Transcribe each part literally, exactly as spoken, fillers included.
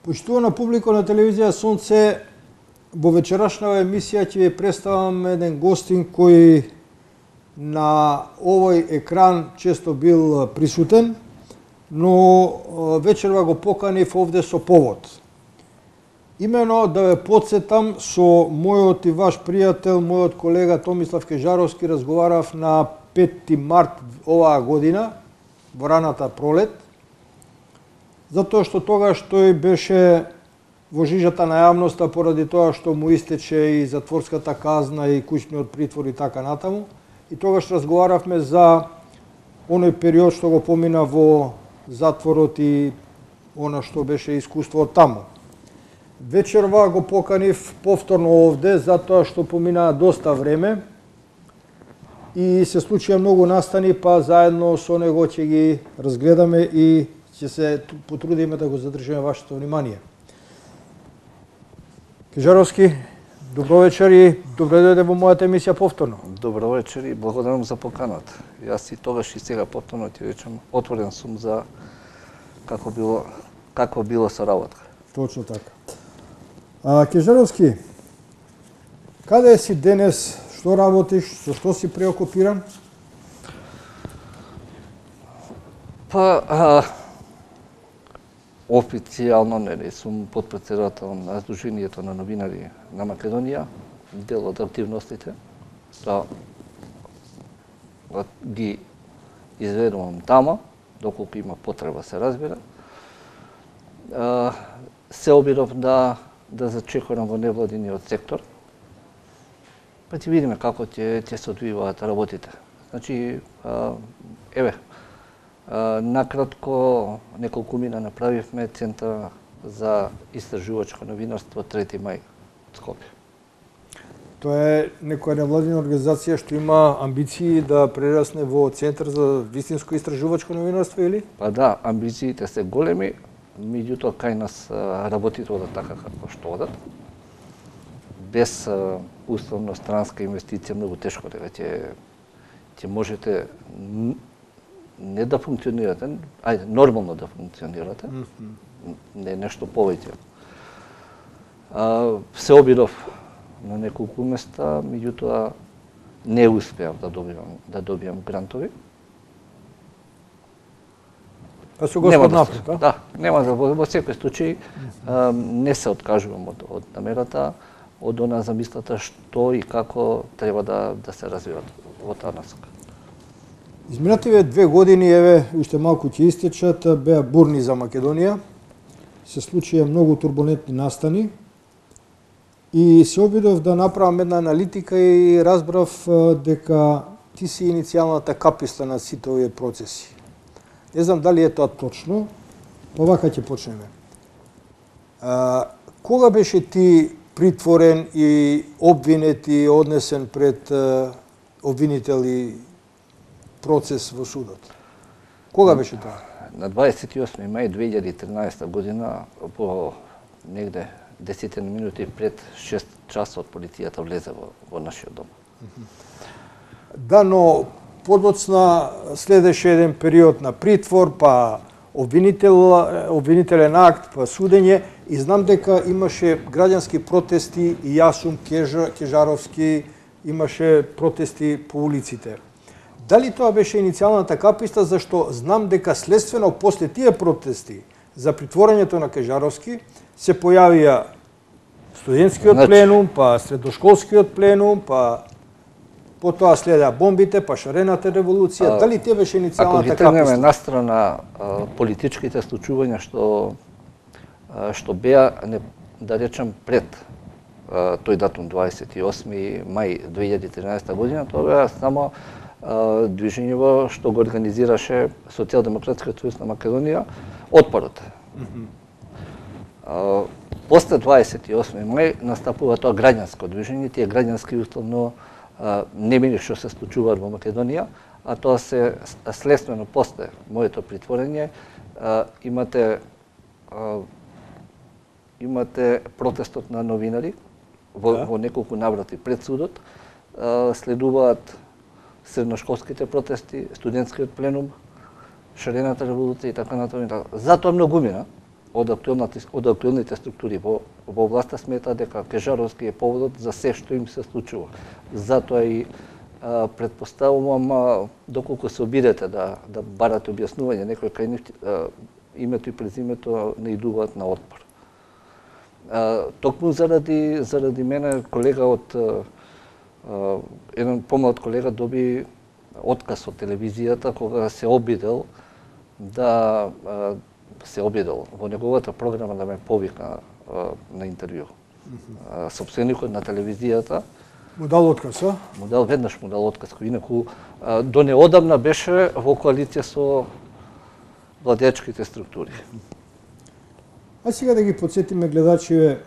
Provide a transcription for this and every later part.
Почитувана публика на телевизија Сонце, во вечерашна емисија ќе ви представам еден гостин кој на овој екран често бил присутен, но вечерва го поканив овде со повод. Имено да ве подсетам, со мојот и ваш пријател, мојот колега Томислав Кежаровски разговарав на петти март оваа година, во раната пролет, затоа што тогаш тој беше во жижата на јавноста поради тоа што му истече и затворската казна и куќниот притвор и така натаму. И тогаш разговаравме за оној период што го помина во затворот и она што беше искуство од таму. Вечерва го поканив повторно овде, затоа што помина доста време и се случија многу настани, па заедно со него ќе ги разгледаме и ќе се потрудиме да го задржиме вашето внимание. Кежаровски, добро вечер и добре дојде во мојата емисија повторно. Добро вечер и благодарам за поканата. Јас и тогаш и сега повторно ти речам, отворен сум за како било како било со работа. Точно така. А, Кежаровски, каде си денес, што работиш, со што си преокупиран? Па, а, официјално нели сум подпредседател на Сдруженијето на новинари на Македонија, дел од активностите, да ги изведувам тама, доколку има потреба се разбира. А, се обидов да да зачекорам во невладиниот сектор, па ќе видиме како ќе ќе се одвиваат работите. Значи, а, еве, а, накратко неколку мина направивме Центар за истражувачко новинарство трети мај од Скопје. Тоа е некоја невладина организација што има амбиции да прерасне во Центар за вистинско истражувачко новинарство или? Па да, амбициите се големи, меѓутоа кај нас работите одат така како што одат. Без условно странска инвестиција многу тешко дека ќе ќе можете не да функционирате, ајде нормално да функционирате. Mm-hmm. Не нешто повеќе. А, се обидов на неколку места, меѓутоа не успеав да добиам да добиам грантови. Па со Господ напред, да? Да, нема да во, во секој случај а, не се откажувам од, од намерата, од она замислата што и како треба да да се развиват во таа насока. Изминативе две години, еве, уште малку ќе истечат, беа бурни за Македонија. Се случија многу турбулентни настани и се обидов да направам една аналитика и разбрав дека ти си иницијалната каписта на сите овие процеси. Не знам дали е тоа точно, па вака ќе почнеме. А, кога беше ти притворен и обвинет и однесен пред а, обвинител и процес во судот? Кога беше тоа? На дваесет и осми мај две илјади и тринаесета година, по негде десет минути пред шест часот, полицијата влезе во, во нашиот дом. Да, но подоцна следеше еден период на притвор, па обвинител, обвинителен акт, па судење, и знам дека имаше граѓански протести и јас сум Кежа, Кежаровски, имаше протести по улиците. Дали тоа беше иницијалната каписта, зашто знам дека следствено после тие протести за притворањето на Кежаровски се појавија студентскиот значи... пленум, па средошколскиот пленум, па потоа следеа бомбите, па шарената револуција. А, дали те беше иницијалната каписта? Ако ги тргнеме настрана политичките случувања што а, што беа, не, да речем, пред а, тој датум дваесет и осми мај две илјади и тринаесета година, тоа беа само движењево што го организираше Социјалдемократскиот сојуз на Македонија, Отпорот. Mm-hmm. А, после дваесет и осми мај настапува тоа граѓанско движење, тие граѓански условно а, немини што се случуваат во Македонија, а тоа се следствено после моето притворење а, имате а, имате протестот на новинари во, да. во неколку наврати пред судот, а, следуваат средношколските протести, студентскиот пленум, шарената револуција и така натаму. Затоа многу мина, од актуелните, од актуелните структури во, во власта сметаат дека Кежаровски е поводот за се што им се случува. Затоа и а, предпоставувам, а, доколку се обидете да, да барате објаснување, некој кај нив а, името и презимето не идуваат на отпор. А, токму заради, заради мене колега од а, а, еден помлад колега доби отказ од телевизијата кога се обидел да а, се обидел во неговата програма да ме повика а, на интервју. А, собственикот на телевизијата му дал отказ, а? Му дал веднаш му дал отказ, кој инаку а, до неодамна беше во коалиција со владеачките структури. А сега да ги подсетиме гледачиве,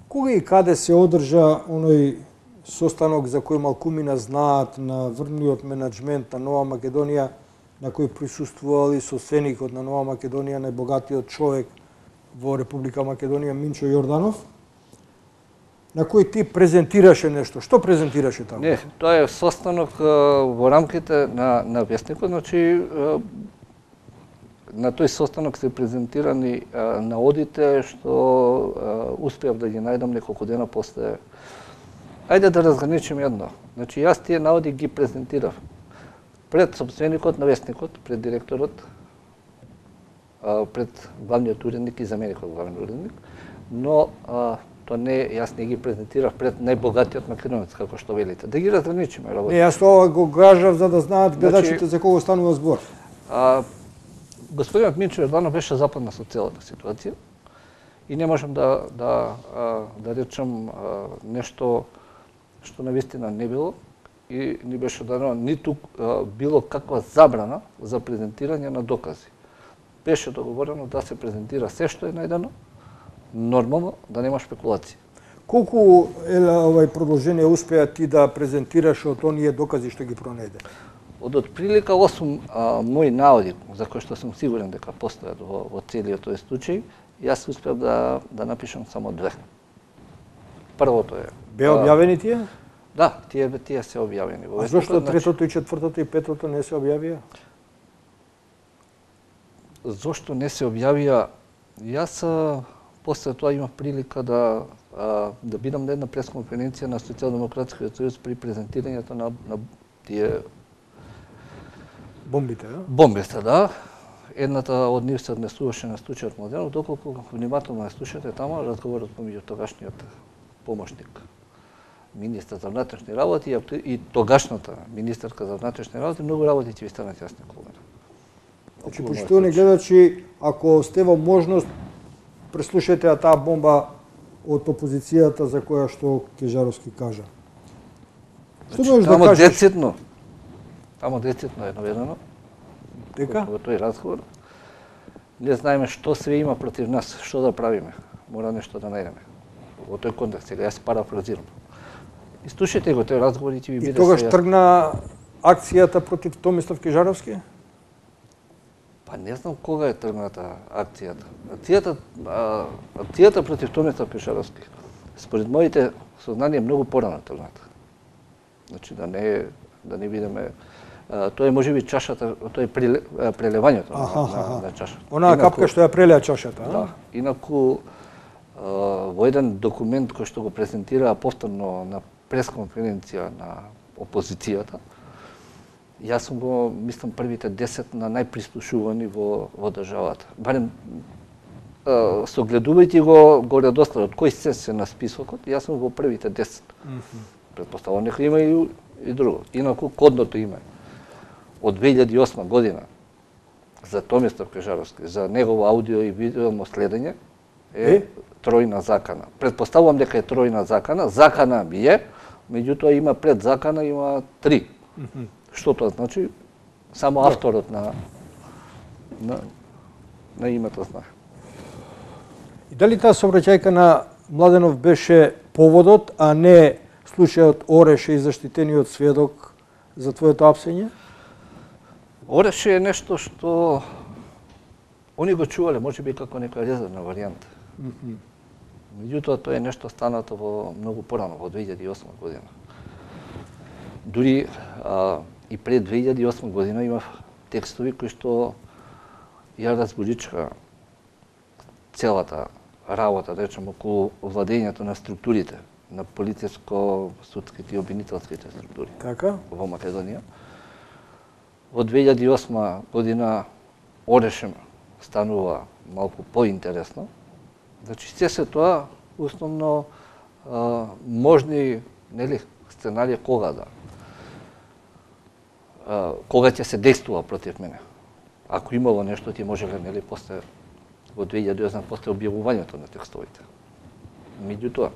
кога и каде се одржа оној состанок за кој малкумина знаат на врвниот менеджмент на Нова Македонија, на кој присуствувал и собственикот на Нова Македонија, најбогатиот човек во Република Македонија, Минчо Јорданов, на кој ти презентираше нешто. Што презентираше таму? Не, тоа е состанок а, во рамките на, на Вестникот, значи а, на тој состанок се презентирани а, наодите што а, успеав да ги најдам неколку дена после. Ајде да разграничим едно. Значи јас тие наоди ги презентирав пред собственикот на Вестникот, пред директорот, а, пред главниот уредник и заменикот главен уредник, но а, тоа не, јас не ги презентирав пред најбогатиот македонец, како што велите. Да ги разграничиме работа. Не, јас тоа го кажав за да знаат гледачите Значи, за кого станува збор. А, господинот Минчо Јорданов беше западна со целата ситуација и не можам да да а, да речам а, нешто што навистина не било и не беше дадено ниту а, било каква забрана за презентирање на докази. Беше договорено да се презентира се што е најдено, нормално да нема шпекулации. Колку е овај продолжение успеа ти да презентираш од оние докази што ги пронеде? Од отприлика осум а, мои наоди, за кои што сум сигурен дека постојат во, во целиот тој случај, јас успеав да, да напишам само две. Првото е... Беа објавени тие? Да, тие, тие се објавени. Во А зошто Вестникот, третото и четвртото и петото не се објавија? Зошто не се објавија? Јас а, после тоа имав прилика да а, да бидам на една пресконференција на Социјалдемократскиот сојуз при презентирањето на, на тие Бомбите, да? бомбите, да. Едната од нив се однесуваше на случајот Младенов, доколку внимателно ја слушате тама разговорот помеѓу тогашниот помошник министар за внатрешни работи и тогашната министарка за внатрешни работи, многу работи ќе ви станат јасни кога. Значи, почитувани гледачи, ако сте во можност, преслушајте таа бомба од опозицијата за која што Кежаровски кажа. Што Значи, можеш да тамо кажеш? децитно, тамо децитно е наведено, Дека? во тој разговор, не знаеме што све има против нас, што да правиме, мора нешто да најдеме. Во тој контекст, сега јас парафразирам. И слушайте го тој разговор и ќе ви И биде тогаш се јасно. тргна акцијата против Томислав Кежаровски? Па не знам кога е тргната акцијата. Акцијата, а, акцијата против Томислав Кежаровски, според моите сознанија, многу порано тргната. Значи да не да не видиме, а, тоа е можеби чашата, тоа е приле, а, прелевањето на, Аха, на, аха. на чашата. Онаа Инаку- капка што ја прелеа чашата, а? Да. Инаку а, во еден документ кој што го презентираа повторно на пресконференција на опозицијата, јас сум го, мислам, првите десет на најприслушувани во, во државата. Барем, а, согледувајќи го го редоследот, кој се се на списокот, јас сум во првите десет. Предпоставувам нека има и, и друго. Инаку кодното име од две илјади и осма година за Томислав Кежаровски, за негово аудио и видео следење е, Е? тројна закана. Предпоставувам дека е тројна закана, закана би е, меѓутоа има пред закана има три. Што тоа значи? Само авторот на на на името знае. И дали таа сообраќајка на Младенов беше поводот, а не случајот Ореше и заштитениот сведок за твоето апсење? Ореше е нешто што они го чувале, може би како нека резервна варијанта. Меѓутоа тоа е нешто станато во многу порано, во две илјади и осма година. Дури а, и пред две илјади и осма година имав текстови кои што ја разбудичка целата работа, да речем, околу владењето на структурите, на полициско-судските и обвинителските структури Така? во Македонија. Во две илјади и осма година Орешем станува малку поинтересно. Значи, се се тоа, основно, а, можни, нели, сценарија кога да, а, кога ќе се действува против мене. Ако имало нешто, ти можеле, нели, после, во две илјади и осма, после објавувањето на текстовите. Меѓутоа,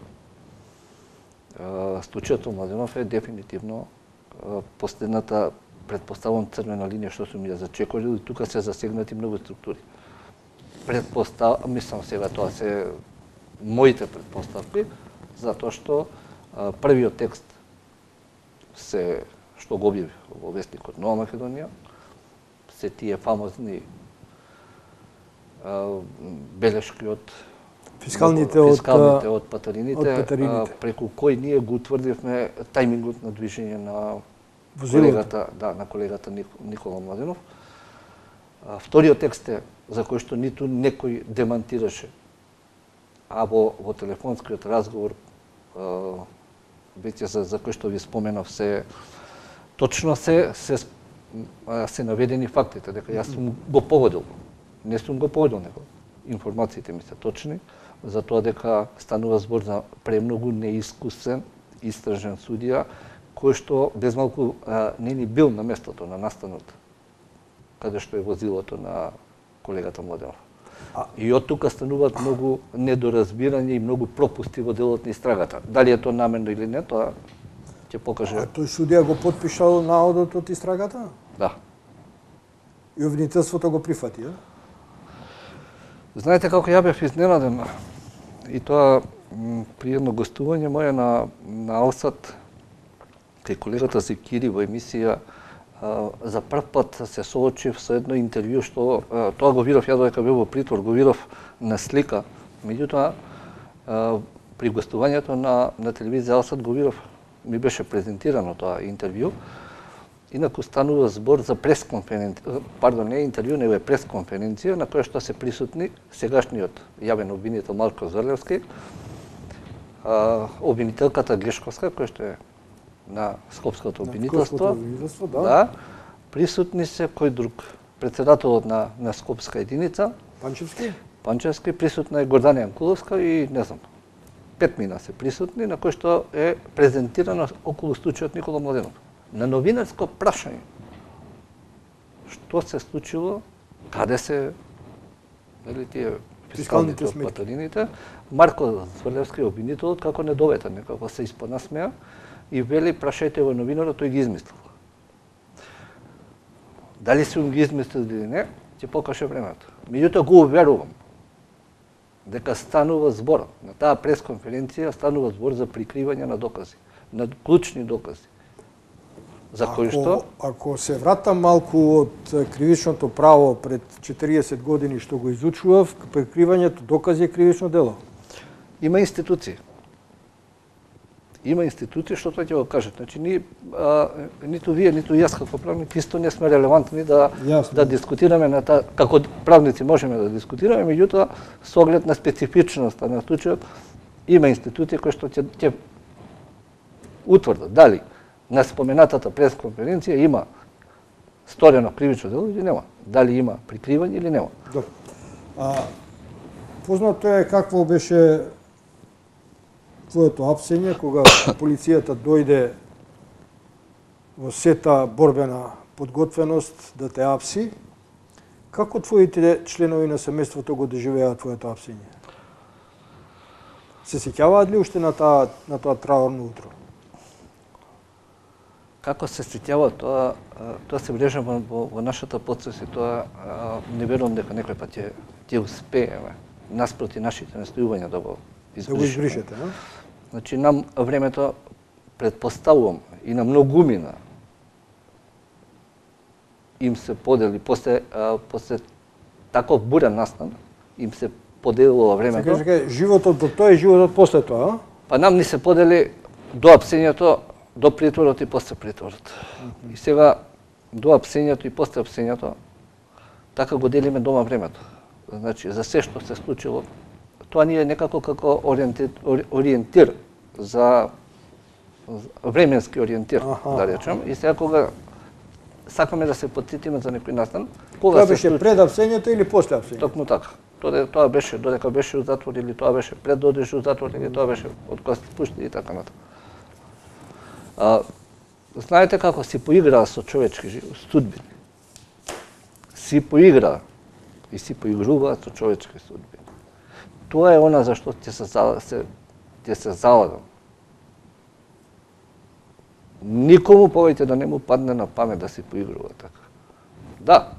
случајот Младенов е дефинитивно последната, предпоставам, црвена линија што сум ја зачекорил, и тука се засегнати многу структури. Предпостав, мислам сега тоа се моите предпоставки, затоа што а, првиот текст се што го објави во вестникот Нова Македонија, се тие фамозни а, белешки од Фискалните, фискалните од, од патарините, од патарините. А, преку кои ние го утврдивме тајмингот на движење на Возилото. колегата, да, на колегата Никола Младенов. А, вториот текст е за кој што ниту некој демантираше, а во, во телефонскиот разговор а, веќе за, за кој што ви споменав се точно се се се наведени фактите дека јас сум го погодил. Не сум го погодил него. Информациите ми се точни, за тоа дека станува збор за премногу неискусен истражен судија кој што без малку а, не ни бил на местото на настанот каде што е возилото на колегата Младенов. А... И од тука стануваат многу недоразбирање и многу пропусти во делот на истрагата. Дали е тоа намерно или не, тоа ќе покаже. А тој судија го потпишал наодот од истрагата? Да. И обвинителството го прифати, а? Знаете како ја бев изненаден, и тоа при едно гостување моје на, на Алсат, кај колегата Зекири во емисија, а, за прв пат се соочив со едно интервју што а, тоа го видов ја додека бев во притвор, го видов на слика, меѓутоа а, при гостувањето на, на телевизија Алсат го видов, ми беше презентирано тоа интервју. Инаку станува збор за пресконференција, пардон, не интервју, него е пресконференција на која што се присутни сегашниот јавен обвинител Марко Зврлевски, обвинителката Гешковска, која што е на Скопското обвинителство, да. да, присутни се кој друг, председателот на, на Скопска единица, Панчевски, Панчевски, присутна е Гордана Јанкуловска и не знам, пет мина се присутни, на кој што е презентирано околу случајот Никола Младенов. На новинарско прашање, што се случило, каде се, нели, тие фискалните од патарините, Марко Зврлевски, обвинителот, како недоветен, некако се испонасмеа и вели, прашајте во новинарот, тој ги измислил. Дали сум ги измислил или не, ќе покаже времето. Меѓутоа го уверувам дека станува збор, на таа пресконференција станува збор за прикривање на докази, на клучни докази. За кој што? Ако се вратам малку од кривичното право пред четириесет години што го изучував, прикривањето докази е кривично дело. Има институции. Има институции што тоа ќе го кажат. Значи, ни, а, ниту вие, ниту јас како правник исто не сме релевантни да, да дискутираме на та, како правници можеме да дискутираме, меѓутоа, со оглед на специфичноста на случајот, има институции кои што ќе, ќе утврдат дали на споменатата пресконференција има сторено кривично дело или нема. Дали има прикривање или нема. Добро. А, познато е какво беше твоето апсење кога полицијата дојде во сета борбена подготвеност да те апси. Како твоите членови на семејството го доживеа твоето апсење? Се сеќаваат ли уште на таа на тоа траурно утро? Како се сеќава тоа, тоа се врежа во, во нашата подсвест и тоа не верувам дека некој пат ќе ќе успееме наспроти нашите настојувања да го избришеме. Да го избришете, а? Значи нам времето предпоставувам и на многумина им се подели после а, после таков бурен настан им се поделило времето. Се каже, животот до тоа и животот после тоа, а? Па нам ни се подели до апсењето, до притворот и после притворот. Mm-hmm. И сега до апсењето и после апсењето така го делиме дома времето. значи, за се што се случило, тоа ни е некако како ориентир, ориентир за временски ориентир, Аха. да речем, и сега кога сакаме да се потсетиме за некој настан, кога Тоа се беше случи... пред апсењето или после апсењето? Токму така. Тоа, тоа беше додека беше у затвор или тоа беше пред да одиш у затвор или тоа беше од кога се пушти и така натаму. А, знаете како си поиграа со човечки судбини. Си поиграа и си поигруваат со човечки судбини. Тоа е она за што ќе се се ќе се залагам. Никому повеќе да не му падне на памет да си поигрува така. Да,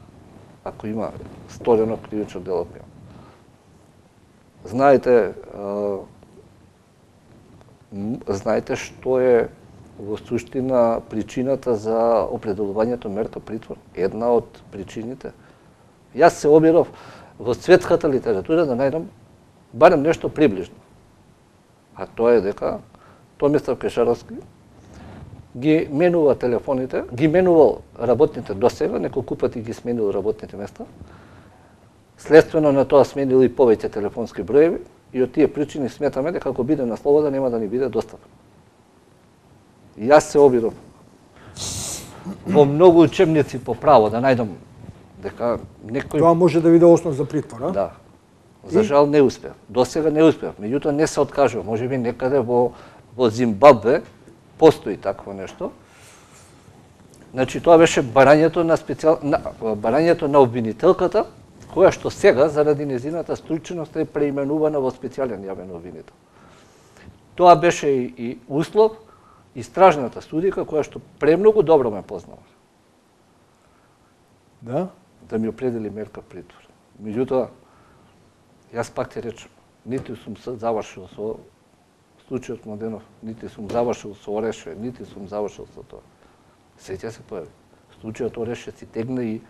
ако има сторено кривично дело. Знаете, а, знаете што е во суштина причината за определувањето мертов притвор? Една од причините. Јас се обиров во светската литература да најдам барем нешто приближно. А тоа е дека Томислав Кешаровски ги менува телефоните, ги менувал работните досега, неколку пати ги сменил работните места. Следствено на тоа сменил и повеќе телефонски броеви и од тие причини сметаме дека ако биде на слобода нема да ни биде достапен. Јас се обидов во многу учебници по право да најдам дека некој... Тоа може да биде основ за притвор, а? Да. За жал не успев. Досега не успев. Меѓутоа не се откажува. Може би некаде во, во Зимбабве постои такво нешто. Значи тоа беше барањето на специјал на барањето на обвинителката, која што сега заради незината стручност е преименувана во специјален јавен обвинител. Тоа беше и, и услов истражната судика која што премногу добро ме познава. Да? Да ми определи мерка притвор. Меѓутоа јас пак ти речем, ниту сум завршил со случајот Младенов, нити сум завршил со Ореше, нити сум завршил со тоа. Се ќе се појави. Случајот Ореше си тегна и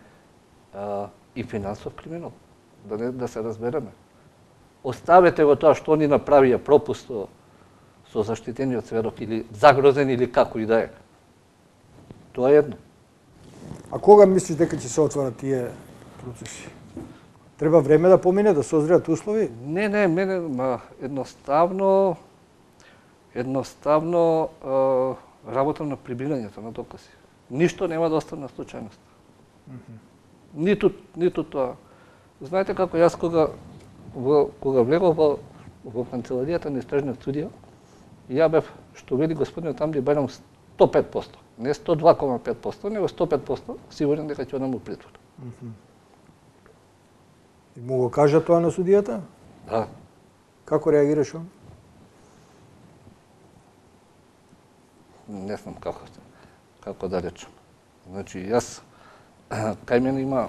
а, и финансов криминал. Да не да се разбереме. Оставете го тоа што ни направија пропуст со, со заштитениот сведок или загрозен или како и да е. Тоа е едно. А кога мислиш дека ќе се отворат тие процеси? Треба време да помине, да созреат услови? Не, не, мене ма, едноставно едноставно е, работам на прибирањето на докази. Ништо нема да остане на случајност. Mm -hmm. Ниту ниту тоа. Знаете како јас кога во, кога влегов во, во канцеларијата на истражниот судија, ја бев, што вели господинот Амди, барам сто пет проценти. Не сто два целу пет проценти, него сто пет проценти сигурен дека ќе одам у притвор. Mm -hmm. И му го кажа тоа на судијата? Да. Како реагираш он? Не знам како, како да речем. Значи, јас, кај мене има,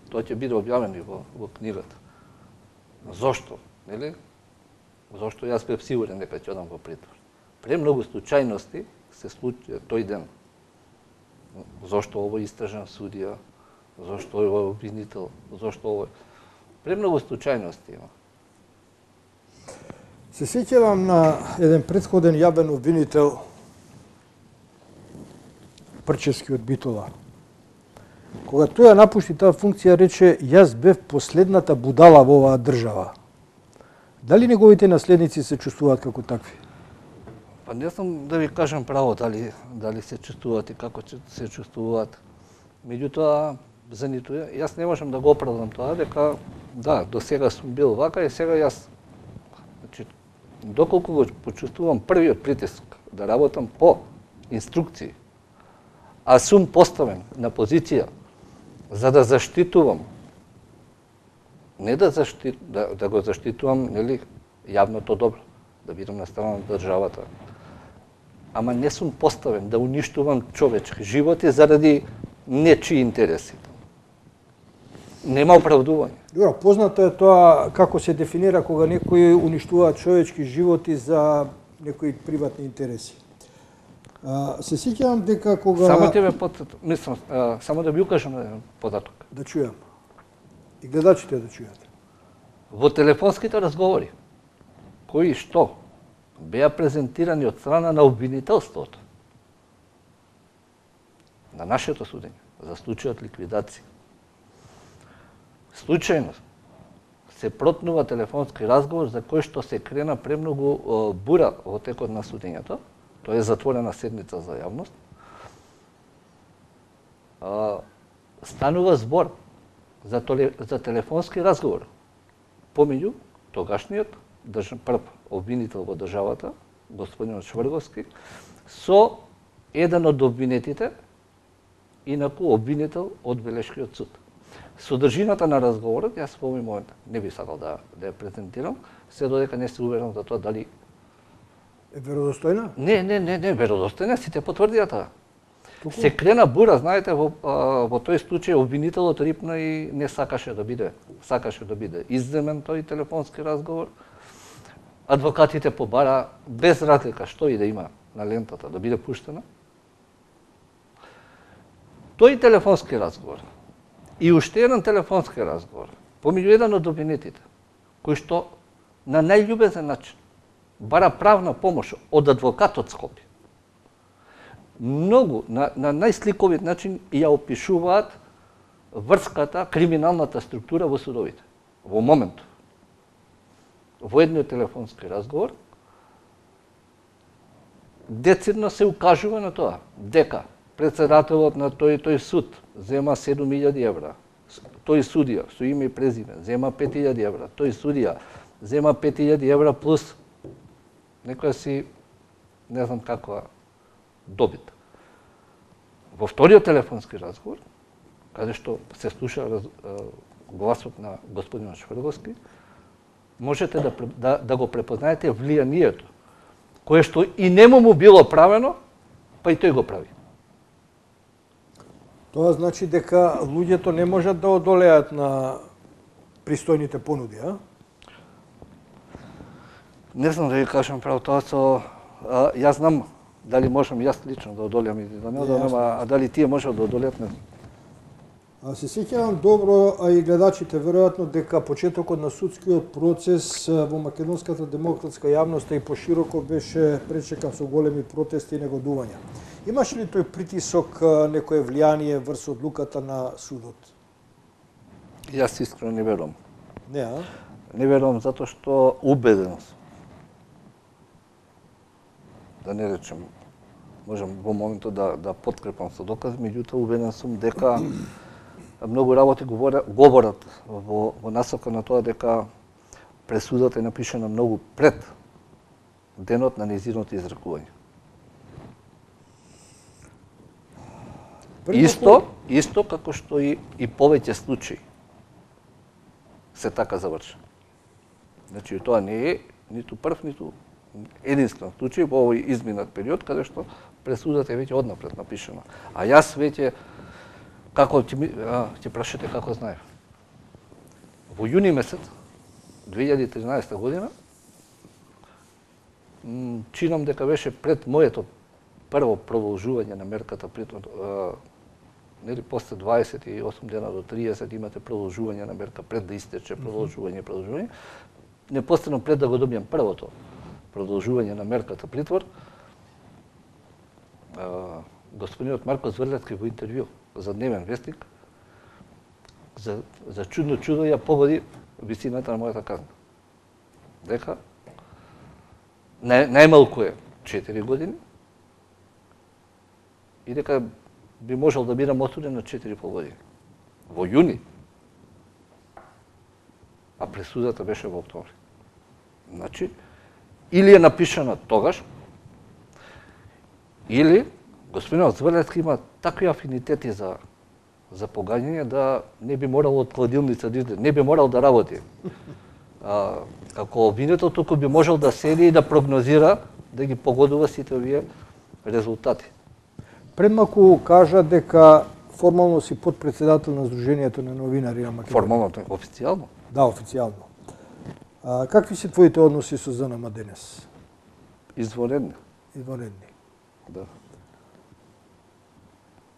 тоа ќе биде објавено и во, во книгата. Зошто, нели? Зошто јас бев сигурен дека ќе одам во притвор. Премногу случајности се случи тој ден. Зошто овој истражен судија, зошто овој обвинител, зошто овој... Премногу случајности има. Се сеќавам на еден претходен јавен обвинител, Прчевски од Битола. Кога тој ја напушти таа функција, рече: јас бев последната будала во оваа држава. Дали неговите наследници се чувствуваат како такви? Па не знам да ви кажам право дали дали се чувствуваат и како се чувствуваат. Меѓутоа, за ниту јас не можам да го оправдам тоа, дека да, до сега сум бил вака и сега јас, значи, доколку го почувствувам првиот притиск да работам по инструкции, а сум поставен на позиција за да заштитувам, не да, защит, да, да го заштитувам, нели, јавното добро, да бидам на страна на државата, ама не сум поставен да уништувам човечки животи заради нечии интереси. Нема оправдување. Добро, познато е тоа како се дефинира кога некој уништува човечки животи за некои приватни интереси. А, се сеќавам дека кога... Само ќе ве подсетам, мислам, а, само да ви укажам на еден податок. Да чујам. И гледачите да чујат. Во телефонските разговори, кои што беа презентирани од страна на обвинителството, на нашето судење, за случајот ликвидација, случајно се протнува телефонски разговор за кој што се крена премногу бура во текот на судењето. Тоа е затворена седница за јавност. Станува збор за, толе, за телефонски разговор помеѓу тогашниот држав, прв обвинител во државата, господин Шврговски, со еден од обвинетите, инаку обвинител од Белешкиот суд. Содржината на разговорот, јас во овој момент не би сакал да, да ја презентирам, се додека не се уверен за тоа дали е веродостојна? Не, не, не, не, веродостојна, сите потврдија тоа. Се крена бура, знаете, во, во тој случај обвинителот рипна и не сакаше да биде, сакаше да биде изземен тој телефонски разговор. Адвокатите побара без разлика што и да има на лентата да биде пуштена. Тој телефонски разговор и уште еден телефонски разговор помеѓу еден од обвинетите, кој што на најљубезен начин бара правна помош од адвокатот Скопје. Многу, на, на најсликовит начин ја опишуваат врската, криминалната структура во судовите. Во моментот. Во едниот телефонски разговор, децидно се укажува на тоа, дека председателот на тој тој суд зема седум илјади евра, тој судија со име и презиме зема пет илјади евра, тој судија зема пет илјади евра плюс некоја си, не знам каква добит. Во вториот телефонски разговор, каде што се слуша раз, гласот на господин Шврговски, можете да, да, да го препознаете влијанието, кое што и нему му било правено, па и тој го прави. Тоа значи дека луѓето не можат да одолеат на пристојните понуди, а? Не знам да ви кажам право тоа со... А, јас знам дали можам јас лично да одолеам или да не одолеам, а, а дали тие можат да одолеат, не знам. А се сеќавам добро, а и гледачите веројатно, дека почетокот на судскиот процес во македонската демократска јавност и пошироко беше пречекан со големи протести и негодувања. Имаше ли тој притисок, некое влијание врз одлуката на судот? Јас искрено не верувам. Не, а? Не верувам затоа што убеден сум. Да не речем, можам во моментот да, да подкрепам со докази, меѓутоа убеден сум дека многу работи говорат, говорат во, во насока на тоа дека пресудата е напишана многу пред денот на нејзиното изрекување. Исто, исто како што и, и повеќе случаи се така завршени. Значи, тоа не е ниту прв, ниту единствен случај во овој изминат период, каде што пресудата е веќе однапред напишана. А јас веќе, како ќе, ќе прашате како знаев. Во јуни месец две илјади и тринаесета година, чинам дека беше пред моето прво продолжување на мерката, притон, нели после дваесет и осум дена до триесет имате продолжување на мерка пред да истече продолжување, продолжување. Непосредно пред да го добијам првото продолжување на мерката притвор, господинот Марко Зврлевски во интервју за Дневен вестник за, за чудно чудо ја погоди висината на мојата казна. Дека нај, најмалку е четири години и дека би можел да бидам осуден на четири и пол години. Во јуни. А пресудата беше во октомври. Значи, или е напишана тогаш, или господинот Зврлевски има такви афинитети за за погаѓање да не би морал од кладилница да излезе, не би морал да работи. А, како обвинител туку би можел да седи и да прогнозира, да ги погодува сите овие резултати. Пред малку кажа дека формално си подпредседател на Сдруженијето на новинари на Македонија. Формално, официјално? Да, официјално. А, какви се твоите односи со ЗНМ денес? Извонредни. Извонредни. Да.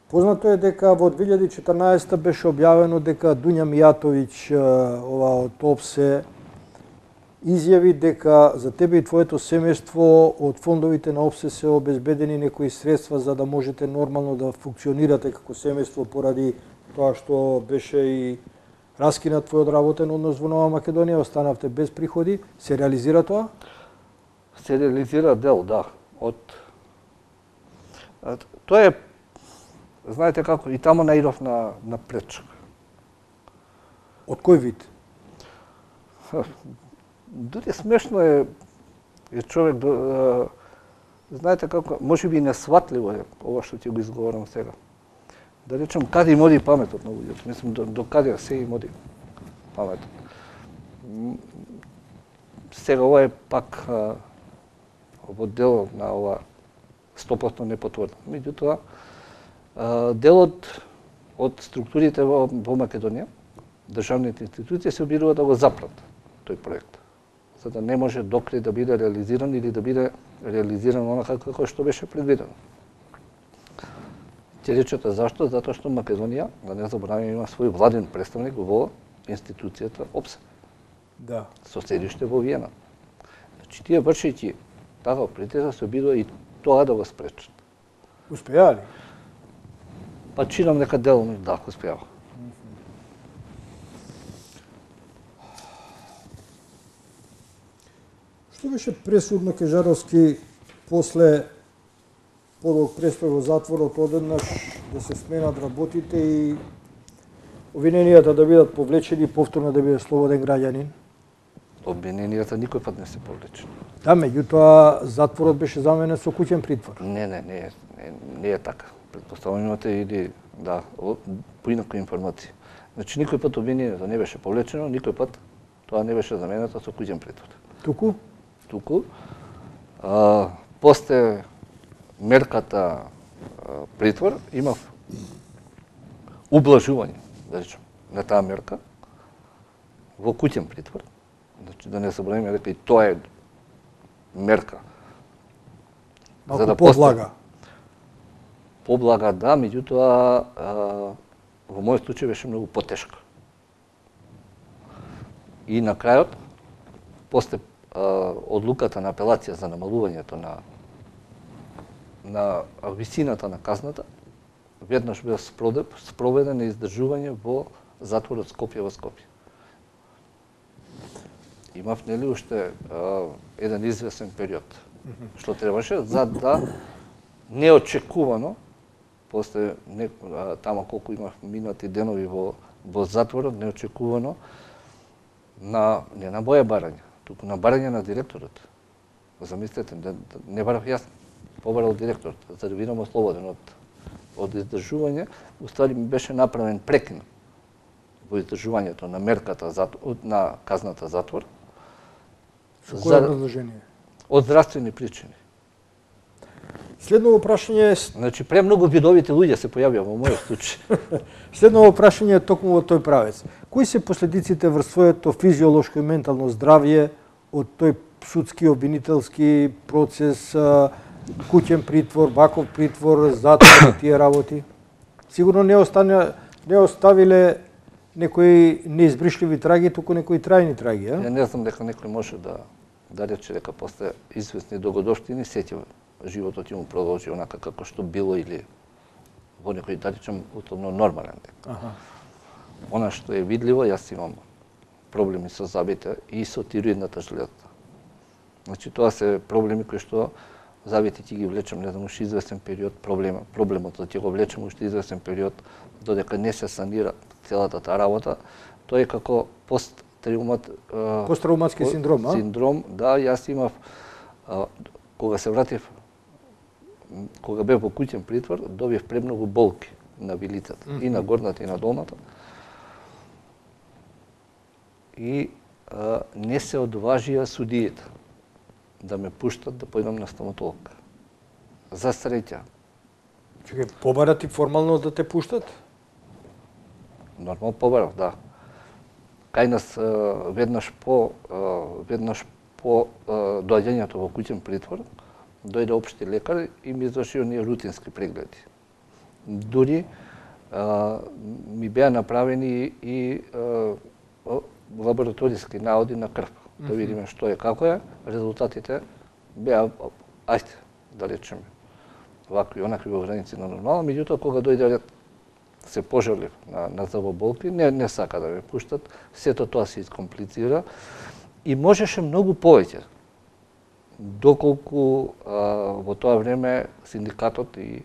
Познато е дека во две илјади и четрнаесета беше објавено дека Дуња Мијатовиќ, ова од ОПСЕ, изјави дека за тебе и твоето семејство од фондовите на ОПСЕ се обезбедени некои средства за да можете нормално да функционирате како семејство поради тоа што беше и раскинат твојот работен однос во Нова Македонија, останавте без приходи, се реализира тоа? Се реализира дел, да. Од тоа е, знаете како, и таму наидов на на пречка. Од кој вид? Дури смешно е, е човек до, знаете како, може би несватливо е ова што ќе го изговорам сега. Да речем, каде им оди паметот на луѓето? Мислам, до, до каде се им оди паметот. Сега ова е пак а, во дел на ова сто проценти непотврдено. Меѓутоа, делот од структурите во, во Македонија, државните институции се обидува да го запрат тој проект, за да не може докрај да биде реализиран или да биде реализиран онака како што беше предвидено. Ќе речете зашто? Затоа што Македонија, да не забораваме, има свој владен представник во институцијата ОПСЕ. Да. Со седиште во Виена. Значи, тие вршејќи таков притисок се обидува и тоа да го спречат. Успеа ли? Па чинам нека делно да успеа. Што беше пресудно Кежаровски после подолг престој во затворот одеднаш да се сменат работите и обвиненијата да бидат повлечени и повторно да биде слободен граѓанин? Обвиненијата никој пат не се повлечени. Да, меѓутоа затворот беше заменен со куќен притвор. Не, не, не, не, не е така. Предпоставувам имате или да, поинако информации. Значи никој пат обвинението не беше повлечено, никој пат тоа не беше заменето со куќен притвор. Туку? Туку. А, после мерката а, притвор имав ублажување, да речем, на таа мерка во куќен притвор. Значи да не забораваме дека и тоа е мерка. Малку за да поблага. Поблага, да, меѓутоа во мојот случај беше многу потешка. И на крајот, после а, одлуката на апелација за намалувањето на на висината на казната, веднаш бил спроведен на издржување во затворот Скопје во Скопје. Имав нели уште а, еден известен период, што требаше за да неочекувано, после не, а, тама колку имав минати денови во, во затворот, неочекувано на, не на моја барање, туку на барање на директорот. Замислете, не, не барав јас, побарал директорот, за да бидам ослободен од, од издржување, уствари ми беше направен прекин во издржувањето на мерката затвор, на казната затвор. Со кое образложение? Од здравствени причини. Следно прашање е... Значи, премногу видовите луѓе се појавија во мојот случај. Следно прашање е токму во тој правец. Кои се последиците врз своето физиолошко и ментално здравје од тој судски обвинителски процес, куќен притвор, ваков притвор, затвор, тие работи? Сигурно не остане, не оставиле некои неизбришливи траги, туку некои трајни траги, а? Ја не знам дека некој може да да рече дека после известни догодоштини сеќа животот ќе му продолжи онака како што било или во некој, да речем, условно нормален дек. Аха. Она што е видливо, јас имам проблеми со зъбите и со тироидната жлеза. Значи тоа се проблеми кои што зъбите ќе ги влечем, не знам, уште известен период, проблема, проблемот да ќе го влечем уште известен период додека не се санира целата таа работа. Тоа е како пост Траумат, посттравматски синдром, а? Синдром, да, јас имав, а, кога се вратив, кога бев во куќен притвор, добив премногу болки на вилицата, mm -hmm. и на горната и на долната. И а, не се одважија судиите да ме пуштат да појдам на стоматолог. За среќа. Чекај, побарат и формално да те пуштат? Нормално побарав, да. Кај нас веднаш по веднаш по доаѓањето во куќен притвор дојде општи лекар и ми изврши оние рутински прегледи. Дури а, ми беа направени и а, лабораториски наоди на крв, mm -hmm. да видиме што е, како е. Резултатите беа, ајде, да речеме, вакви, онакви во граници на нормално, меѓутоа кога дојде ред се пожалив на, на заболки, не, не сака да ме пуштат, сето тоа се искомплицира и можеше многу повеќе. Доколку а, во тоа време синдикатот и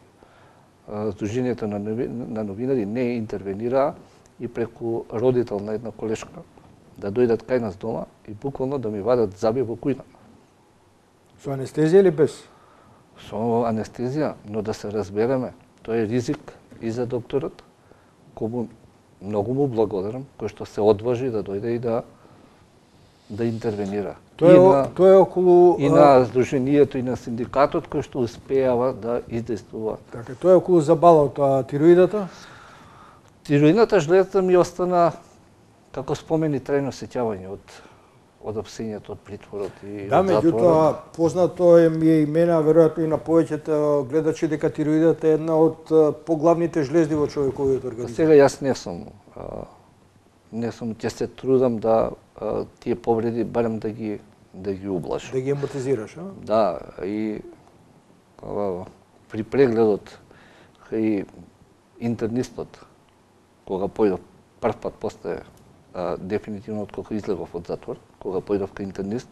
а, Сдруженијето на, нови, на новинари не интервенираа и преку родител на една колешка да дојдат кај нас дома и буквално да ми вадат заби во кујна. Со анестезија или без? Со анестезија, но да се разбереме, тоа е ризик и за докторот, кому многу му благодарам, кој што се одважи да дојде и да да интервенира. Тоа е, на, тоа е околу и на Сдруженијето и на синдикатот кој што успеава да издействува. Така, тоа е околу забалот, а тироидата? Тироидната жлеза ми остана како спомени трајно сеќавање од од апсењето од притворот и да, од затворот. меѓутоа познато е ми е имена, веројатно и на повеќето гледачи, дека тироидата е една од поглавните жлезди во човековиот организам. Сега јас не сум а, не сум ќе се трудам да а, тие повреди барем да ги да ги ублажам. Да ги емотизираш, а? Да, и а, при прегледот кај интернистот кога појдов прв пат после а, дефинитивно откако излегов од затвор, кога појдов кај интернист,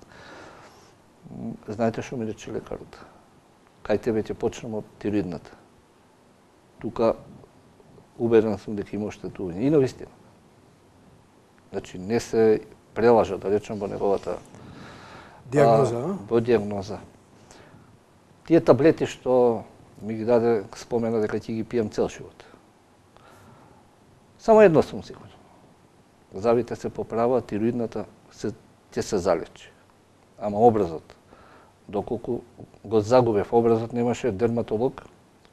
знаете што ми рече лекарот? Кај тебе ќе почнем од тироидната. Тука убеден сум дека има оштетување. И навистина. Значи не се прелажа, да речем, во неговата диагноза, а, во диагноза. Тие таблети што ми ги даде, спомена дека ќе ги пијам цел живот. Само едно сум сигурен. Забите се поправа, тироидната се ќе се залечи. Ама образот, доколку го загубев образот, немаше дерматолог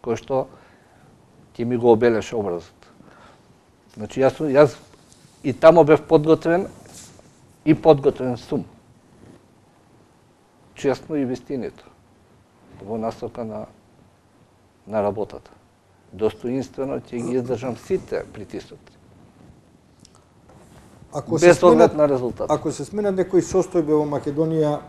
кој што ќе ми го обелеше образот. Значи јас, јас и тамо бев подготвен и подготвен сум. Честно и вистинито. Во насока на, на работата. Достоинствено ќе ги издржам сите притисоци. Ако без се оглед сменат, на резултат. Ако се сменат некои состојби во Македонија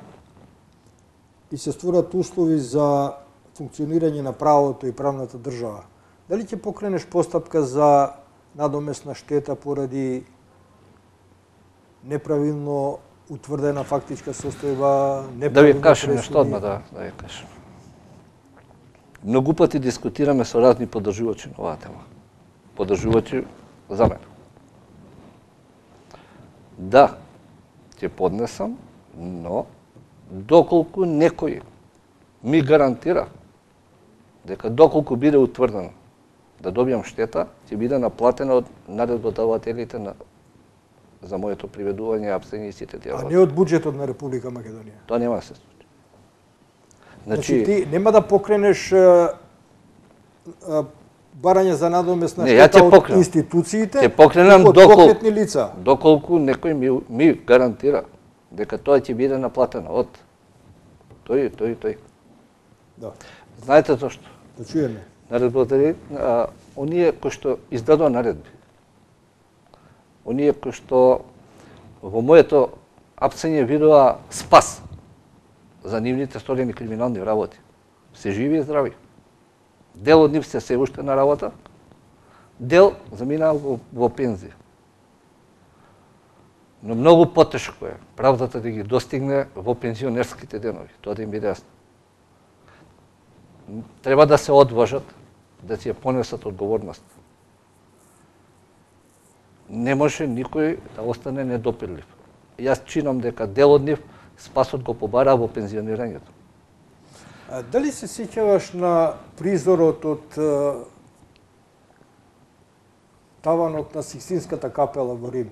и се створат услови за функционирање на правото и правната држава, дали ќе покренеш постапка за надомесна штета поради неправилно утврдена фактичка состојба, Да неправилно ви кажам пресуди? нешто одма, да, да ви кажам. Многу пати дискутираме со разни поддржувачи на оваа тема. Поддржувачи за мене. Да, ќе поднесам, но доколку некој ми гарантира дека доколку биде утврдено да добијам штета, ќе биде наплатена од наредбодавателите на за моето приведување, апсење и сите тие А работи. не од буџетот на Република Македонија. Тоа нема да се случи. Значи, ти нема да покренеш а, а, барање за надомесна Не, ја штета ќе од покренам. институциите, Ќе покренам туку од доколку- конкретни лица. Доколку некој ми, ми гарантира дека тоа ќе биде наплатено од тој, тој, тој. Да, Знаете зашто? да чуеме. Наредбодаватели, а, оние кои што издадува наредби, оние кои што во моето апсење видува спас за нивните сторени криминални работи, се живи и здрави. Дел од нив се се уште на работа, дел заминаа во, во пензија. Но многу потешко е правдата да ги достигне во пензионерските денови, тоа да им биде јасно. Треба да се одважат, да си ја понесат одговорност. Не може никој да остане недопирлив. Јас чинам дека дел од нив спасот го побараа во пензионирањето. А, дали се сеќаваш на призорот од а, таванот на Сикстинската капела во Рим?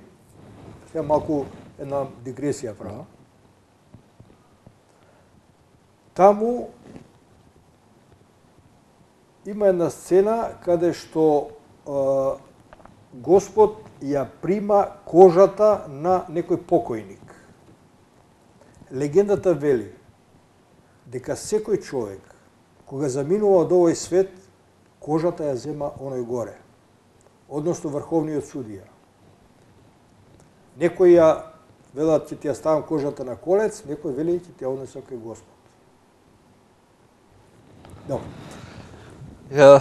Сега малку една дигресија права. Таму има една сцена каде што а, Господ ја прима кожата на некој покојник. Легендата вели дека секој човек кога заминува од овој свет, кожата ја зема оној горе, односно врховниот судија. Некој ја велат ќе ти ја ставам кожата на колец, некој вели ќе ти ја однесам кај Господ. Добро. Ја,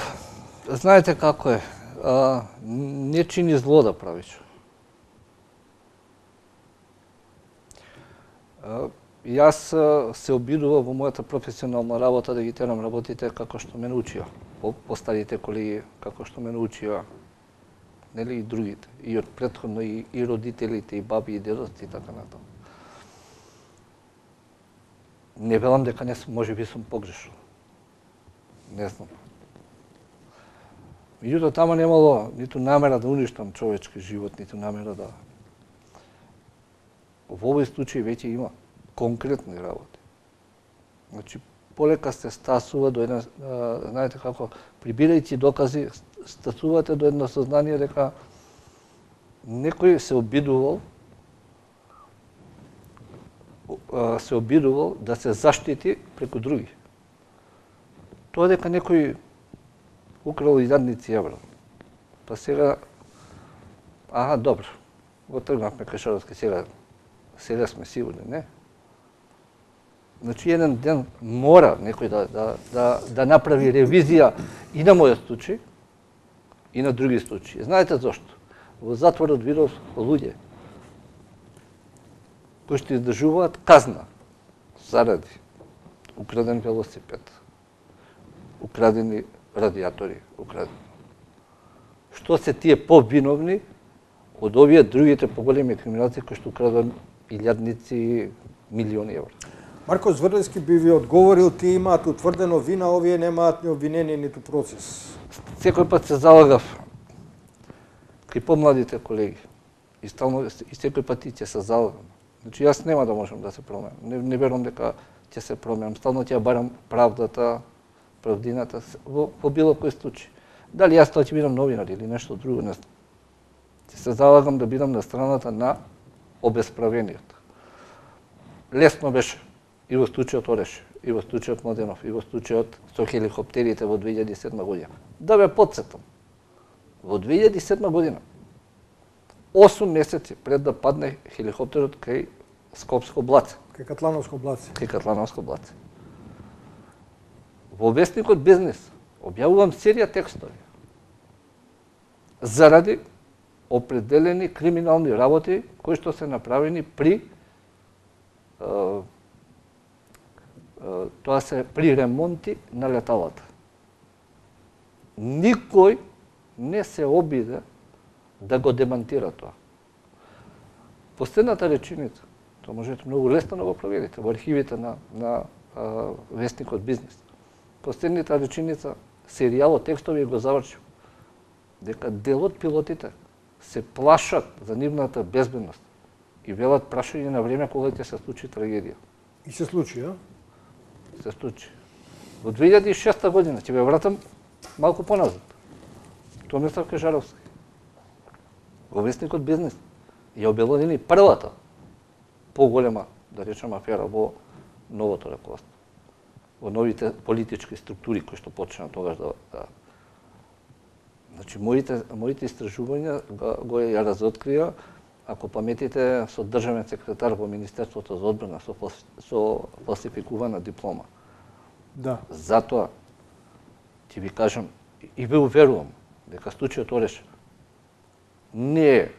знаете како е, а, не чини зло да правиш. А, јас а, се обидував во мојата професионална работа да ги терам работите како што ме научија. По, по старите колеги, како што ме научија, нели и другите, и од претходно и, и родителите, и баби, и дедоци и така натаму. Не велам дека не сум, може би сум погрешил. Не знам. Меѓутоа, тама немало ниту намера да уништам човечки живот, ниту намера да... Во овој случај веќе има конкретни работи. Значи, полека се стасува до една, а, знаете како, прибирајќи докази, стасувате до едно сознание дека некој се обидувал а, се обидувал да се заштити преку други. Тоа дека некој украл илјадници евра. Па сега, аха, добро, го тргнавме Кашаровски, сега, сега сме сигурни, не? Значи, еден ден мора некој да, да, да, да направи ревизија и на мојот случај, и на други случаи. Знаете зошто? Во затворот видов луѓе кои што издржуваат казна заради украден велосипед, украдени радиатори, украдени. Што се тие повиновни од овие другите поголеми криминалци кои што украдат илјадници, милиони евра? Марко Зврлевски би ви одговорил, тие имаат утврдено вина, овие немаат ни обвинение, ниту процес. Секој пат се залагав кај помладите колеги. И стално и секој пат и ќе се залагам. Значи јас нема да можам да се променам. Не, не верувам дека ќе се променам. Стално ќе барам правдата, правдината во, во било кој случај. Дали јас тоа ќе бидам новинар или нешто друго, не знам. Ќе се залагам да бидам на страната на обесправениот. Лесно беше и во случајот Ореш, и во случајот Младенов, и во случајот со хеликоптерите во две илјади и седма година. Да ве потсетам, во две илјади и седма година, осум месеци пред да падне хеликоптерот кај Скопско блаце. Кај Катлановско блаце. Кај Катлановско блаце. Во вестникот Бизнес објавувам серија текстови заради определени криминални работи кои што се направени при е, тоа се при ремонти на леталата. Никој не се обиде да го демантира тоа. Последната реченица, тоа можете многу лесно да го проверите во архивите на, на а, вестникот Бизнес. Последната реченица, серијалот текстови го завршил, дека дел од пилотите се плашат за нивната безбедност и велат прашање на време кога ќе се случи трагедија. И се случи, а? Се случи. Во две илјади и шеста година, ќе ве вратам малку поназад. Томислав Кашаровски. Во вестникот Бизнес ја обелодени првата поголема, да речем, афера во новото раководство. Во новите политички структури кои што почна тогаш да, да... Значи, моите, моите истражувања го, го ја разоткрија, ако паметите, со државен секретар во Министерството за одбрана со, со фалсификувана диплома. Да. Затоа ќе ви кажам и ве уверувам дека случајот Ореш не е,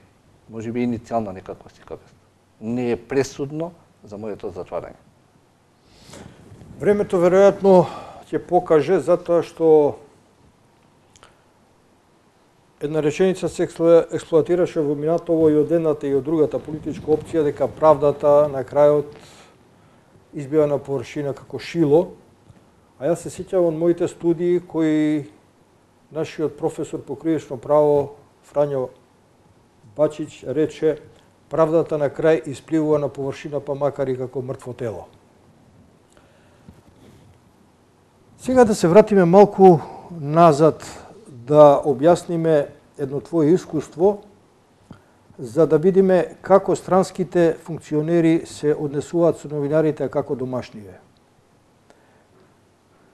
можеби иницијална некаква сикавест, не е пресудно за моето затварање. Времето веројатно ќе покаже, затоа што една реченица се експлоатираше во минатово и од едната и од другата политичка опција, дека правдата на крајот избива на површина како шило. А јас се сеќавам од моите студии кои нашиот професор по кривично право Фрањо Бачич рече: правдата на крај испливува на површина, па макар и како мртво тело. Сега да се вратиме малку назад, да објасниме едно твое искуство, за да видиме како странските функционери се однесуваат со новинарите, а како домашниве.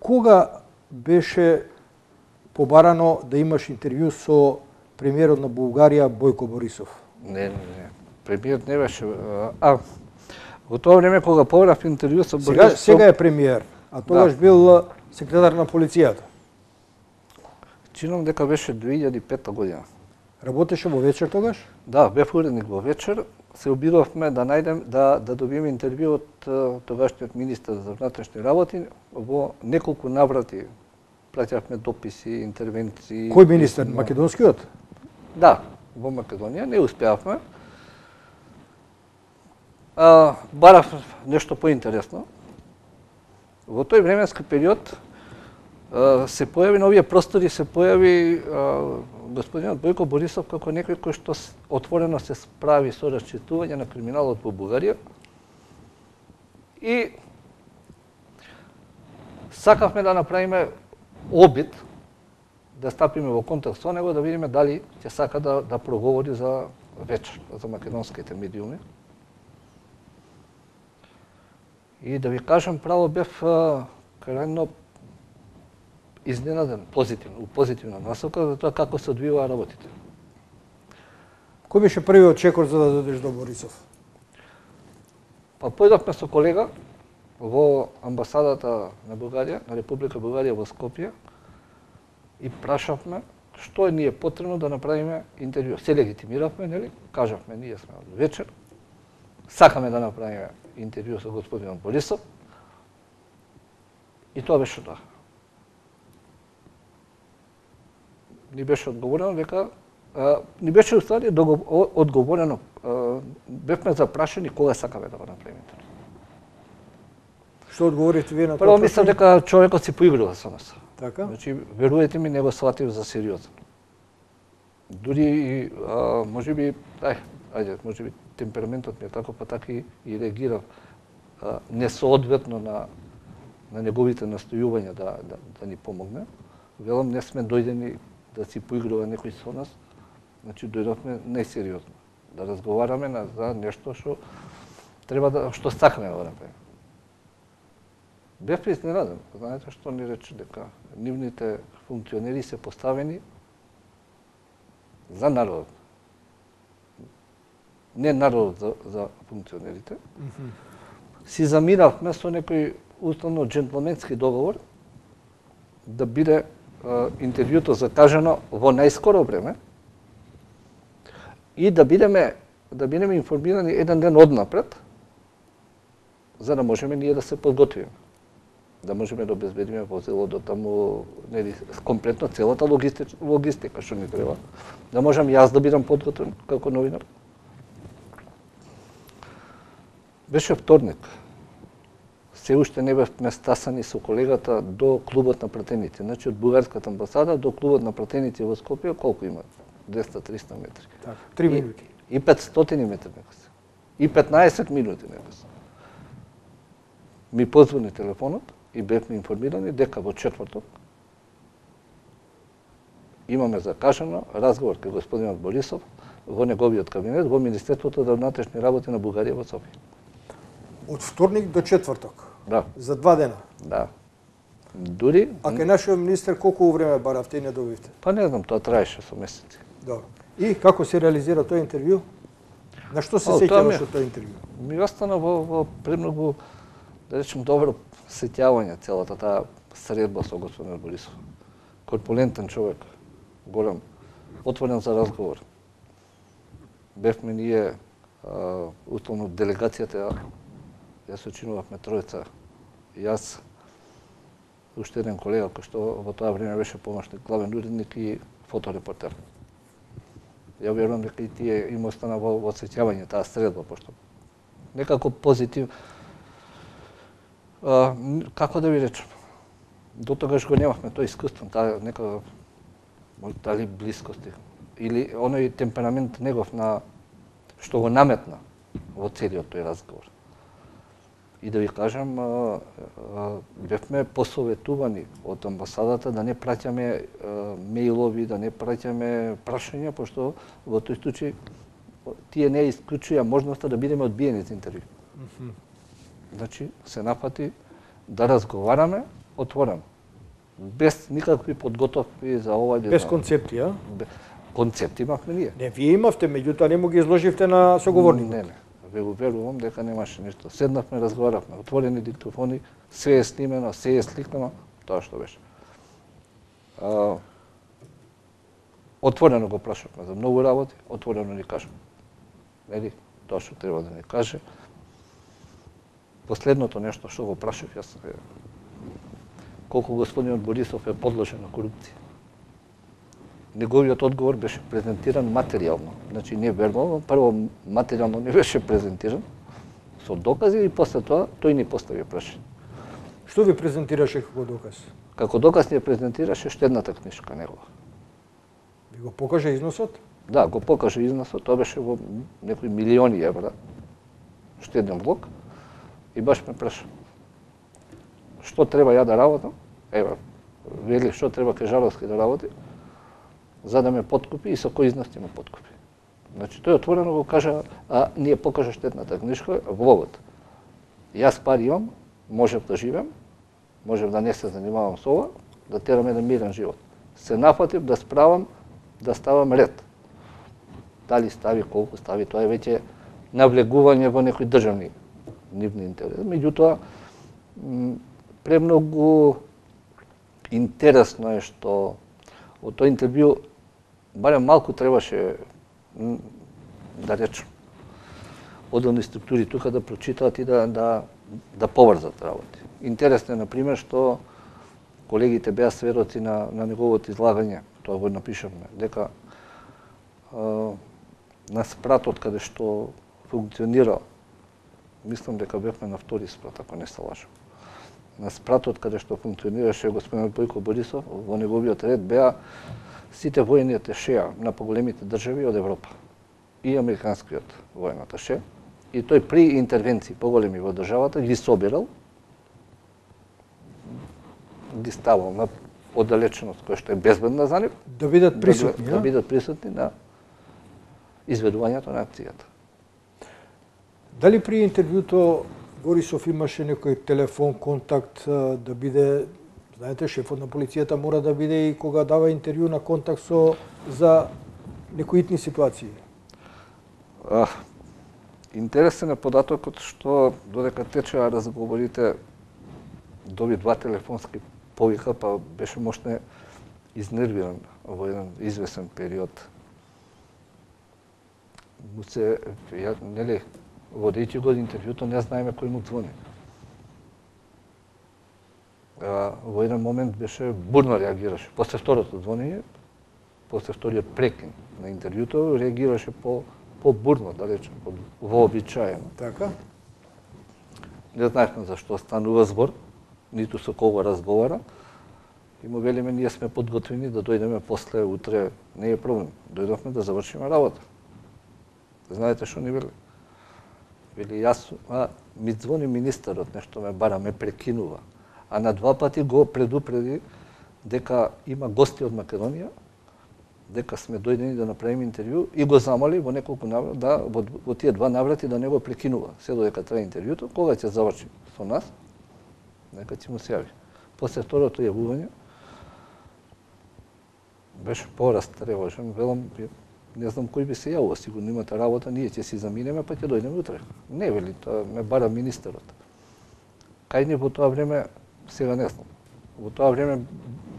Кога беше побарано да имаш интервју со премиерот на Бугарија Бојко Борисов? Не, не, не. Премиерот не беше... А, во тоа време кога побарав интервју со Борисов... Сега, сега е премиер, а тогаш да. Бил секретар на полицијата. чинам дека беше две илјади и пета година. Работеше во вечер тогаш? Да, бев уредник во вечер. Се обидовме да најдем да да добиеме интервју од тогашниот министар за внатрешни работи. Во неколку наврати праќавме дописи, интервенции. Кој министар? Македонскиот? Да, во Македонија не успеавме. А, барав нешто поинтересно. Во тој временски период а, се појави на овие простори, се појави а, господинот Бојко Борисов како некој кој што отворено се справи со расчитување на криминалот во Бугарија. И сакавме да направиме обид да стапиме во контакт со него, да видиме дали ќе сака да, да проговори за вечер, за македонските медиуми. И да ви кажам право, бев крајно изненаден, позитивно, позитивна насока за тоа како се одвиваа работите. Кој беше првиот чекор за да додеш до Борисов? Па појдовме со колега во амбасадата на Бугарија, на Република Бугарија во Скопје и прашавме што ни е потребно да направиме интервју. Се легитимиравме, нели? Кажавме, ние сме од вечер, сакаме да направиме интервју со господинот Борисов и тоа беше тоа. Ни беше одговорено дека а, ни беше уствари одговорено, а, бевме запрашани кога сакаме да го направиме тоа. Што одговорите вие на тоа? Прво мислам дека човекот си поигрува со нас. Така? Значи, верувате ми, не го сватив за сериозно. Дури, а, може би, ај, ајде, може би темпераментот ми е тако, па така и, и реагирав а, несоодветно на, на неговите настојувања да, да, да ни помогне. Велам, не сме дојдени да си поигрува некој со нас, значи дојдовме најсериозно, да разговараме на, за нешто што треба да, што сакаме да го направиме. Бев изненаден, знаете што ни рече дека нивните функционери се поставени за народот. Не народот за, за функционерите. Mm-hmm. Си замиравме со некој уставно джентлменски договор да биде а, интервјуто закажано во најскоро време и да бидеме да бидеме информирани еден ден однапред, за да можеме ние да се подготвиме. Да можеме да обезбедиме возило до таму, нели, комплетно целата логистика, логистика што ни треба. Да можам јас да бидам подготвен како новинар. Беше вторник. Се уште не бевме стасани со колегата до клубот на пратеници. Значи од бугарската амбасада до клубот на пратеници во Скопје колку има? двеста до триста метри. Так, три минути. И, и петстотини метри нека се. И петнаесет минути нека се. Ми позвони телефонот и бевме информирани дека во четврток имаме закажано разговор кај господинот Борисов во неговиот кабинет во Министерството за внатрешни работи на Бугарија во Софија. Од вторник до четврток? Да. За два дена? Да. Дури... А кај нашиот министер колку време баравте и не добивте? Па не знам, тоа траеше со месеци. Добро. И како се реализира тој интервју? На што се сеќаваш од тој интервју? Ми остана во, во премногу, да речем, добро сеќавање целата таа средба со господин Борисов. Корпулентен човек, голем, отворен за разговор. Бевме ние, а, условно, делегацијата, јас очинувавме тројца, јас, уште еден колега кој што во тоа време беше помошник главен уредник и фоторепортер. Ја верувам дека и тие им остана во, во сеќавање таа средба, пошто некако позитив. А, како да ви речем, до тогаш го немавме тој искуство, таа нека дали блискости или оној темперамент негов на што го наметна во целиот тој разговор. И да ви кажам, а, а, бевме посоветувани од амбасадата да не праќаме а, мејлови, да не праќаме прашања, пошто во тој случај тие не исклучуја можноста да бидеме одбиени за интервју. Mm-hmm. Значи, се напати да разговараме отворено, без никакви подготовки за ова. Без концепти, а? Концепти имавме ние. Не, вие имавте, меѓутоа не му ги изложивте на соговорникот. Не, не. Ве уверувам дека немаше ништо. Седнавме, разговаравме, отворени диктофони, се е снимено, се е сликано, тоа што беше. А, отворено го прашавме за многу работи, отворено ни кажа. Нели, тоа што треба да ни каже. Последното нешто што го прашав јас е колку господинот Борисов е подложен на корупција. Неговиот одговор беше презентиран материјално. Значи не вербално, прво материјално не беше презентиран со докази и после тоа тој ни постави прашање. Што ви презентираше како доказ? Како доказ ни презентираше штедната книжка негова. Ви го покажа износот? Да, го покажа износот, тоа беше во некои милиони евра штеден влог и баш ме праша што треба ја да работам, ева, вели што треба Кажаровски да работи, за да ме подкупи и со кој износ ќе ме подкупи. Значи тој отворено го кажа, а ние покажа штедната книжка влогот. Јас пари имам, можев да живеам, можев да не се занимавам со ова, да терам еден мирен живот. Се нафатив да справам, да ставам ред. Дали стави, колку стави, тоа е веќе навлегување во некои државни нивни интереси. Меѓутоа, премногу интересно е што од тој интервју барем малку требаше да речем одделни структури тука да прочитаат и да да да поврзат работи. Интересно е на пример што колегите беа сведоци на на неговото излагање, тоа го напишавме, дека а, на спратот каде што функционира, мислам дека бевме на втори спрат, ако не се лажам. На спратот каде што функционираше господинот Бојко Борисов, во неговиот ред беа сите војни аташеа на поголемите држави од Европа и американскиот воен аташе. И тој при интервенции поголеми во државата ги собирал, ги ставал на оддалеченост која што е безбедна за нив, да бидат присутни, да, да бидат присутни на изведувањето на акцијата. Дали при интервјуто Борисов имаше некој телефон контакт да биде, знаете, шефот на полицијата мора да биде и кога дава интервју на контакт со за некои итни ситуации? А, интересен е податокот што додека течеа разговорите доби два телефонски повика, па беше можне изнервиран во еден извесен период. Му се, ја, нели, водејќи го интервјуто, не знаеме кој му звони. А, во еден момент беше бурно реагираше. После второто звонење, после вториот прекин на интервјуто, реагираше по по-бурно, да речем, вообичаено. Така? Не знаевме за што станува збор, ниту со кого разговара. И му велиме, ние сме подготвени да дојдеме после утре, не е проблем. Дојдовме да завршиме работа. Знаете што ни вели? Вели, јас, а, ми звони министерот, нешто ме бара, ме прекинува. А на два пати го предупреди дека има гости од Македонија, дека сме дојдени да направиме интервју и го замоли во неколку наврати, да, во, во тие два наврати да не го прекинува. Се додека трае интервјуто, кога ќе заврши со нас, нека ќе му се јави. После второто јавување, беше порастревожен, велам, не знам кој би се јавува, сигурно имате работа, ние ќе си заминеме, па ќе дојдеме утре. Не, вели, тоа ме бара министерот. Кај ни во тоа време, сега не знам, во тоа време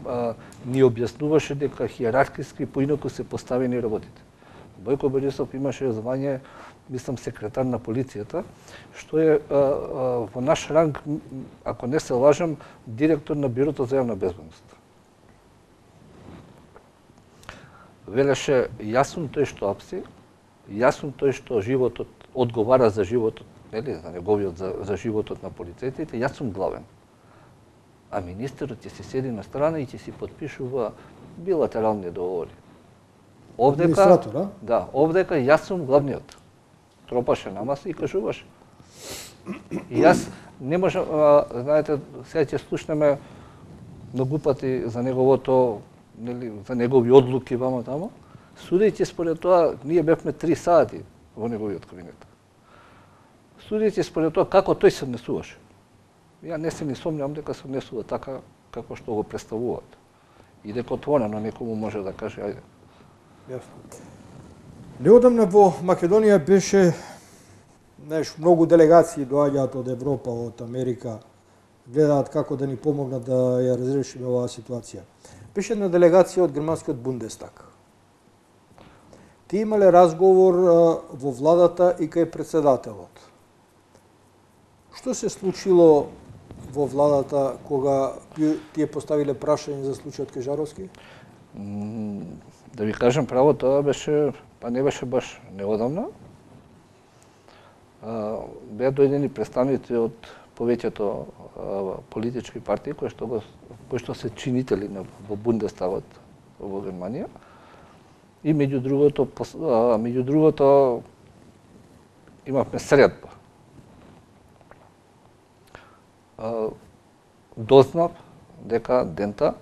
а, ни објаснуваше дека хиерархиски поинаку се поставени работите. Бојко Борисов имаше звање, мислам, секретар на полицијата, што е а, а, во наш ранг, ако не се лажам, директор на Бирото за јавна безбедност. Велеше, јас сум тој што апси, јас сум тој што животот одговара за животот, нели, за неговиот за, за животот на полицајците, јас сум главен. А министерот ќе се седи на страна и ќе си подпишува билатерални договори. Овдека, да, овдека јас сум главниот. Тропаше на маса и кажуваше. И јас не можам, а, знаете, сега ќе слушнеме многу пати за неговото, нели, за негови одлуки вама тамо, судејќи според тоа, ние бевме три сати во неговиот кабинет. Судејќи според тоа како тој се однесуваше. Ја не се ни сомневам дека се однесува така како што го представуваат. И дека отворено некому може да каже, ајде. Јасно. Неодамна во Македонија беше, знаеш, многу делегации доаѓаат од Европа, од Америка, гледаат како да ни помогнат да ја разрешиме оваа ситуација. Беше една делегација од германскиот Бундестаг. ти имале разговор во владата и кај председателот. Што се случило во владата кога тие поставиле прашање за случајот Кежаровски? Да ви кажам право, тоа беше, па не беше баш неодамна. Беа дојдени представници од повеќето политички партии кои што го кои што се чинители на во Бундестагот во Германија. И меѓу другото, меѓу другото имавме средба. Дознав дека дента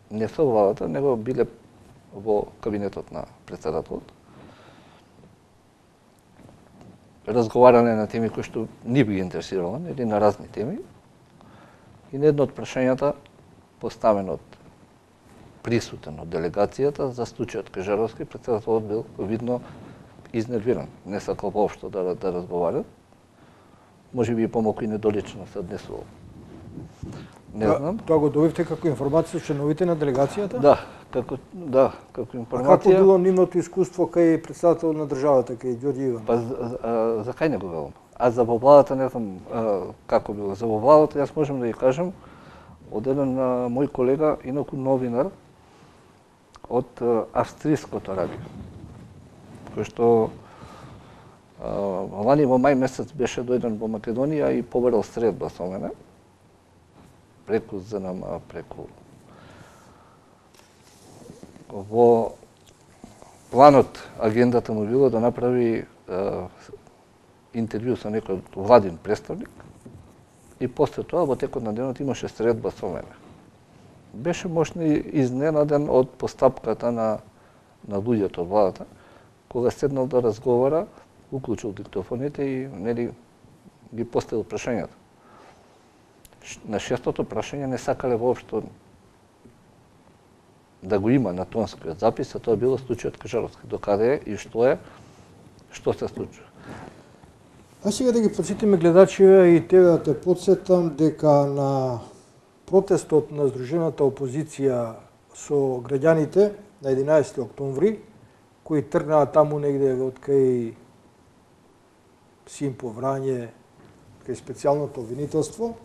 не со владата, него биле во кабинетот на председателот. Разговарале на теми кои што ни би ги интересирало, или на разни теми. И на едно од прашањата поставено од присутен од делегацијата за случајот Кежаровски, председателот бил видно изнервиран, не сакал воопшто да, да разговара. Може би и помалку и недолично се однесувал. Не знам. Тоа го добивте како информација членовите на делегацијата? Да, како да, како информација. А како било нивното искуство кај председател на државата, кај Ѓорѓе Иванов? Па за, а, за кај не го велам. А за во владата не знам а, како било. За во владата јас можам да ја кажам од еден а, мој колега, инаку новинар од а, австриското радио, кој што а, лани во мај месец беше дојден во Македонија и побарал средба со мене преку ЗНМ, преку во планот, агендата му било да направи а, интервју со некој владин представник и после тоа во текот на денот имаше средба со мене. Беше можно изненаден од постапката на на луѓето од владата, кога седнал да разговара, уклучил диктофоните и нели ги поставил прашањата. На шестото прашање не сакале воопшто да го има на тонскиот запис, а тоа било случајот Кежаровски. Докаде е и што е, што се случува. А сега да ги подсетиме гледачите и тебе да те подсетам дека на протестот на Сдружената опозиција со граѓаните на единаесети октомври, кои тргнаа таму негде од кај Симпо Врање, кај специјалното обвинителство,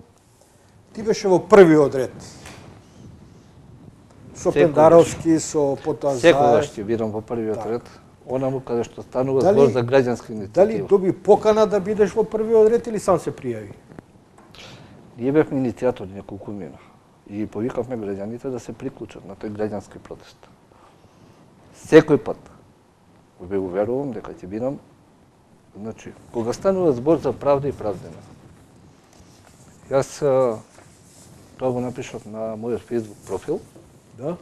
ти беше во првиот ред. Со Пендаровски, со потоа Заев. Секогаш ќе бидам во првиот ред. Онаму каде што станува Дали- збор за граѓанска иницијатива. Дали доби покана да бидеш во првиот ред или сам се пријави? Ние бевме иницијатори неколку мина и повикавме граѓаните да се приклучат на тој граѓански протест. Секој пат ве уверувам дека ќе бидам, значи, кога станува збор за правда и правдина. Јас а, тоа го напишав на мојот Facebook профил. Да?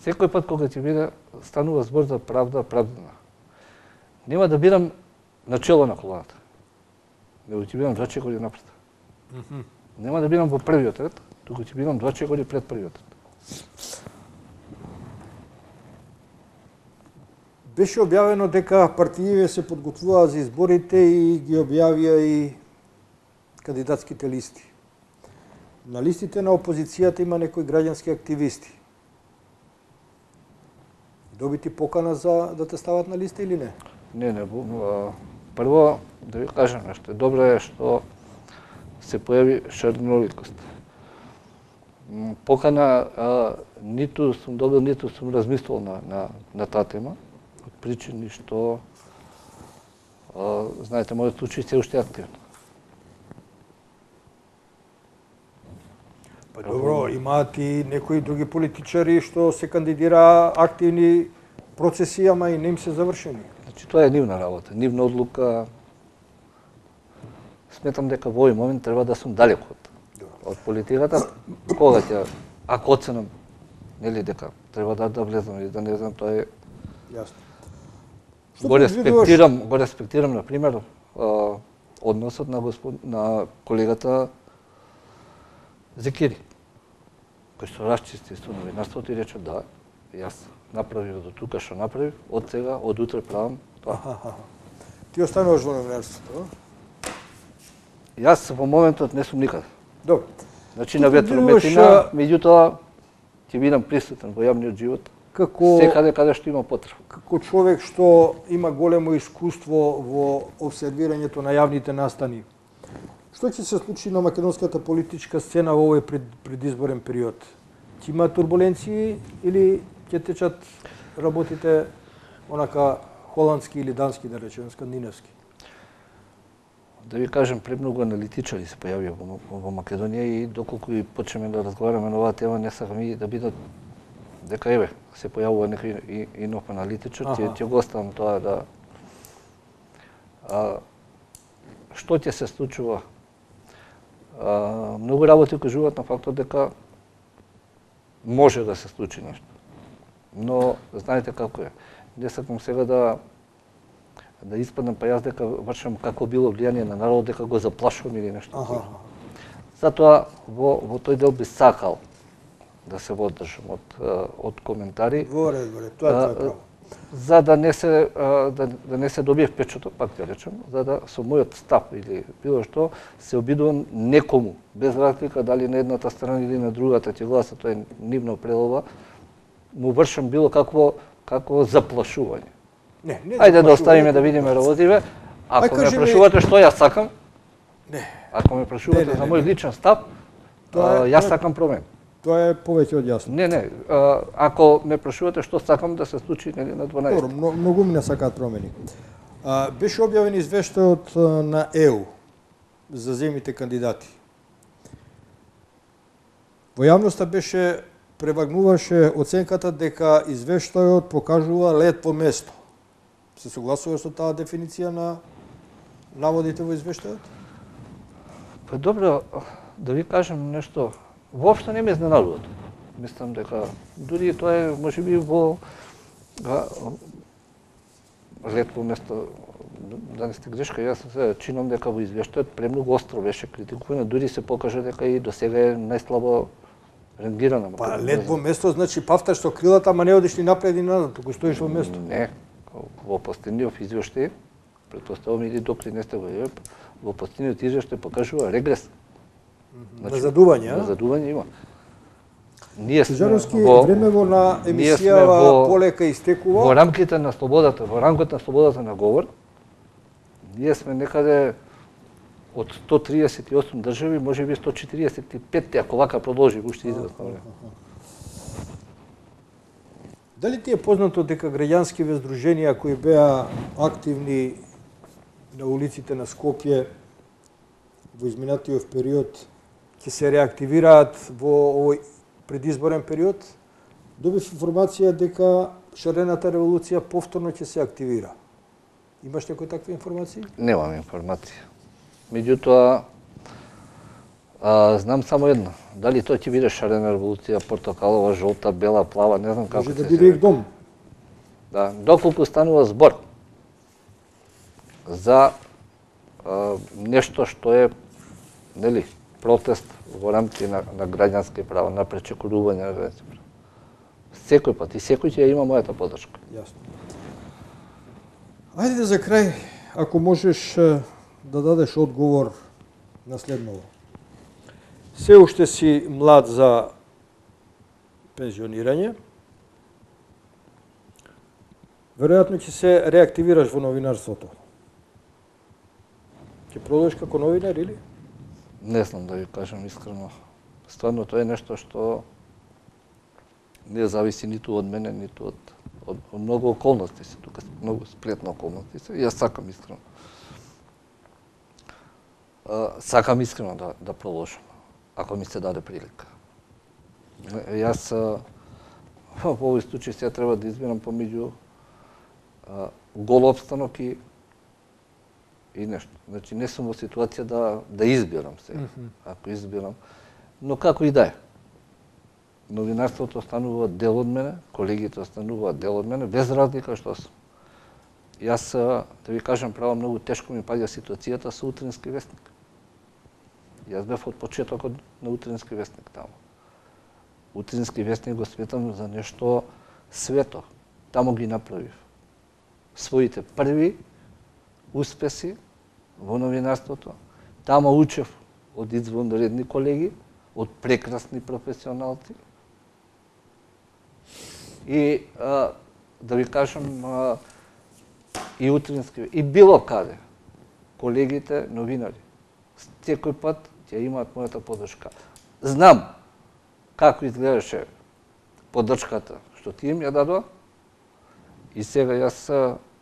Секој пат кога ќе биде станува збор за правда, правдина. Нема да бидам начело на колоната. Него ќе бидам два чекори напред. Mm -hmm. Нема да бидам во првиот ред, туку ќе бидам два чекори пред првиот ред. Беше објавено дека партиите се подготвуваа за изборите и ги објавија и кандидатските листи. На листите на опозицијата има некои граѓански активисти. Доби ти покана за да те стават на листа или не? Не, не. а, Прво, да ви кажам нешто. Добро е што се појави шарноликост. М, Покана а, ниту сум добил, ниту сум размислувал на, на, на таа тема, од причини што, а, знаете, мојот случај се уште активен. Па добро, имаат и некои други политичари што се кандидираа активни процеси, ама и не им се завршени. Значи, тоа е нивна работа, нивна одлука. Сметам дека во овој момент треба да сум далеко од, од политиката. Кога ќе, ако оценам, нели дека треба да да влезам или да не знам, тоа е. Јасно. Го респектирам, го респектирам на пример а, односот на господ, на колегата Зекири, кој што расчисти со новинарството и рече да, јас направив до тука што направив, од сега, од утре правам тоа. Аха, ти остануваш во новинарството, а? Јас во моментот не сум никаде. Добро. Значи на ветрометина, меѓутоа ќе бидам присутен во јавниот живот. како секаде каде што има потреба. Како човек што има големо искуство во обсервирањето на јавните настани, што ќе се случи на македонската политичка сцена во овој пред, предизборен период? Ќе има турбуленции или ќе течат работите онака холандски или дански, да речеме, скандинавски? Да ви кажем, премногу аналитичари се појавија во, во Македонија и доколку и почнеме да разговараме на оваа тема, не сакам и да бидат дека еве се појавува некој и, и нов аналитичар, ќе ќе го оставам тоа да а, што ќе се случува. А, многу работи укажуваат на фактот дека може да се случи нешто. Но знаете како е. Не сакам сега да да испадам па јас дека вршам како било влијание на народот, дека го заплашувам или нешто. Аха. Затоа во во тој дел би сакал да се водржам од од коментари. Во ред, во ред, тоа е тоа право. За да не се да, да не се добие впечаток, пак ќе речем, за да со мојот став или било што се обидувам некому, без разлика дали на едната страна или на другата ќе гласа, тоа е нивна прелова, му вршам било какво какво заплашување. Не, не. Ајде да оставиме да видиме работиве. Ако ме прашувате што јас сакам, не. Ако ме прашувате за мој личен став, тоа јас сакам промени. Тоа е повеќе од јасно. Не, не. А, ако ме прашувате што сакам да се случи нели на дванаесет. Добро, многу ми не сакаат промени. А, беше објавен извештајот на Е У за земите кандидати. Во јавноста беше превагнуваше оценката дека извештајот покажува лет по место. Се согласуваш со таа дефиниција на наводите во извештајот? Па добро, да ви кажем нешто. Воопшто не ме изненадува. Мислам дека дури тоа е можеби во лет по место, да не сте грешка, јас се чинам дека во извештајот премногу остро беше критикувано, дури се покажа дека и до сега е најслабо рангирана. Па лет во место значи пафташ со крилата, ама не одиш ни напред и назад, туку стоиш во место. Не, во последниот извештај, претпоставувам или докли не сте го видели, во последниот извештај покажува регрес. Значи, назадување, а? Назадување има. Ние сме Жаровски, во времево на емисијава полека истекува. Во рамките на слободата, во рамкот на слободата на говор, ние сме некаде од сто триесет и осум држави, можеби сто четиридесет и пет, ако вака продолжи уште известно време. Дали ти е познато дека граѓанскиве здруженија кои беа активни на улиците на Скопје во изминатиот период ќе се реактивираат во овој предизборен период? Добив информација дека шарената револуција повторно ќе се активира. Имаш некои такви информации? Немам информација. Меѓутоа, а, знам само едно. Дали тоа ќе биде шарена револуција, портокалова, жолта, бела, плава, не знам како Може се да биде и дом. Да, доколку станува збор за а, нешто што е, нели, протест во рамките на, на граѓански права, на пречекорување на граѓански права. Секој пат и секој ќе има мојата подршка. Јасно. Ајде за крај, ако можеш да дадеш одговор на следново. Се уште си млад за пензионирање. Веројатно ќе се реактивираш во новинарството. Ќе продолжиш како новинар или? Не знам да ви кажам искрено. Стварно тоа е нешто што не зависи ниту од мене, ниту од, од, од многу околности се, тука многу сплетна околности се. Јас сакам искрено. А, сакам искрено да, да продолжам, ако ми се даде прилика. Јас во овој случај сега треба да избирам помеѓу гол обстанок и и нешто. Значи не сум во ситуација да да избирам сега. Mm-hmm. Ако избирам, но како и да е. Новинарството останува дел од мене, колегите остануваат дел од мене, без разлика што сум. Јас, да ви кажам право, многу тешко ми паѓа ситуацијата со Утрински вестник. Јас бев од почетокот на Утрински вестник таму. Утрински вестник го сметам за нешто свето. Таму ги направив своите први успеси во новинарството. Тама учев од извонредни колеги, од прекрасни професионалци. И а, да ви кажам, а, и утрински, и било каде, колегите новинари, секој пат ќе имаат мојата поддршка. Знам како изгледаше поддршката што ти им ја дадоа и сега јас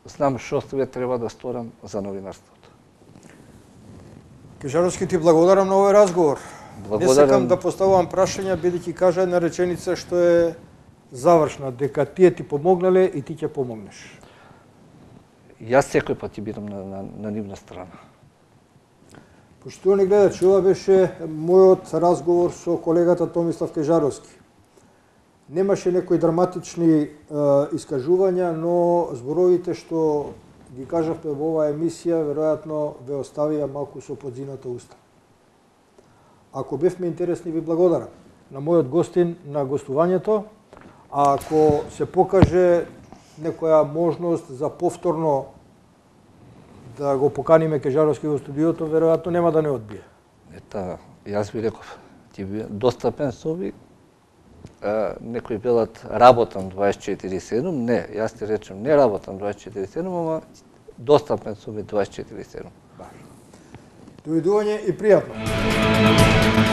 знам што све треба да сторам за новинарството. Кежаровски, ти благодарам на овој разговор. Благодарам. Не сакам да поставувам прашања, бидејќи кажа една реченица што е завршна, дека тие ти помогнале и ти ќе помогнеш. Јас секој пат ќе бидам на, на, на нивна страна. Поштовани гледачи, ова беше мојот разговор со колегата Томислав Кежаровски. Немаше некои драматични е, искажувања, но зборовите што ги кажавме во оваа емисија, веројатно ве оставија малку со подзината уста. Ако бевме интересни, ви благодарам на мојот гостин на гостувањето, а ако се покаже некоја можност за повторно да го поканиме Кежаровски во студиото, веројатно нема да не одбие. Ета, јас ви реков, ти би достапен со ови, некои велат работам дваесет и четири седум, не, јас ти речем не работам дваесет и четири седум, ама достапен со ови дваесет и четири седум. Довидување и пријатно.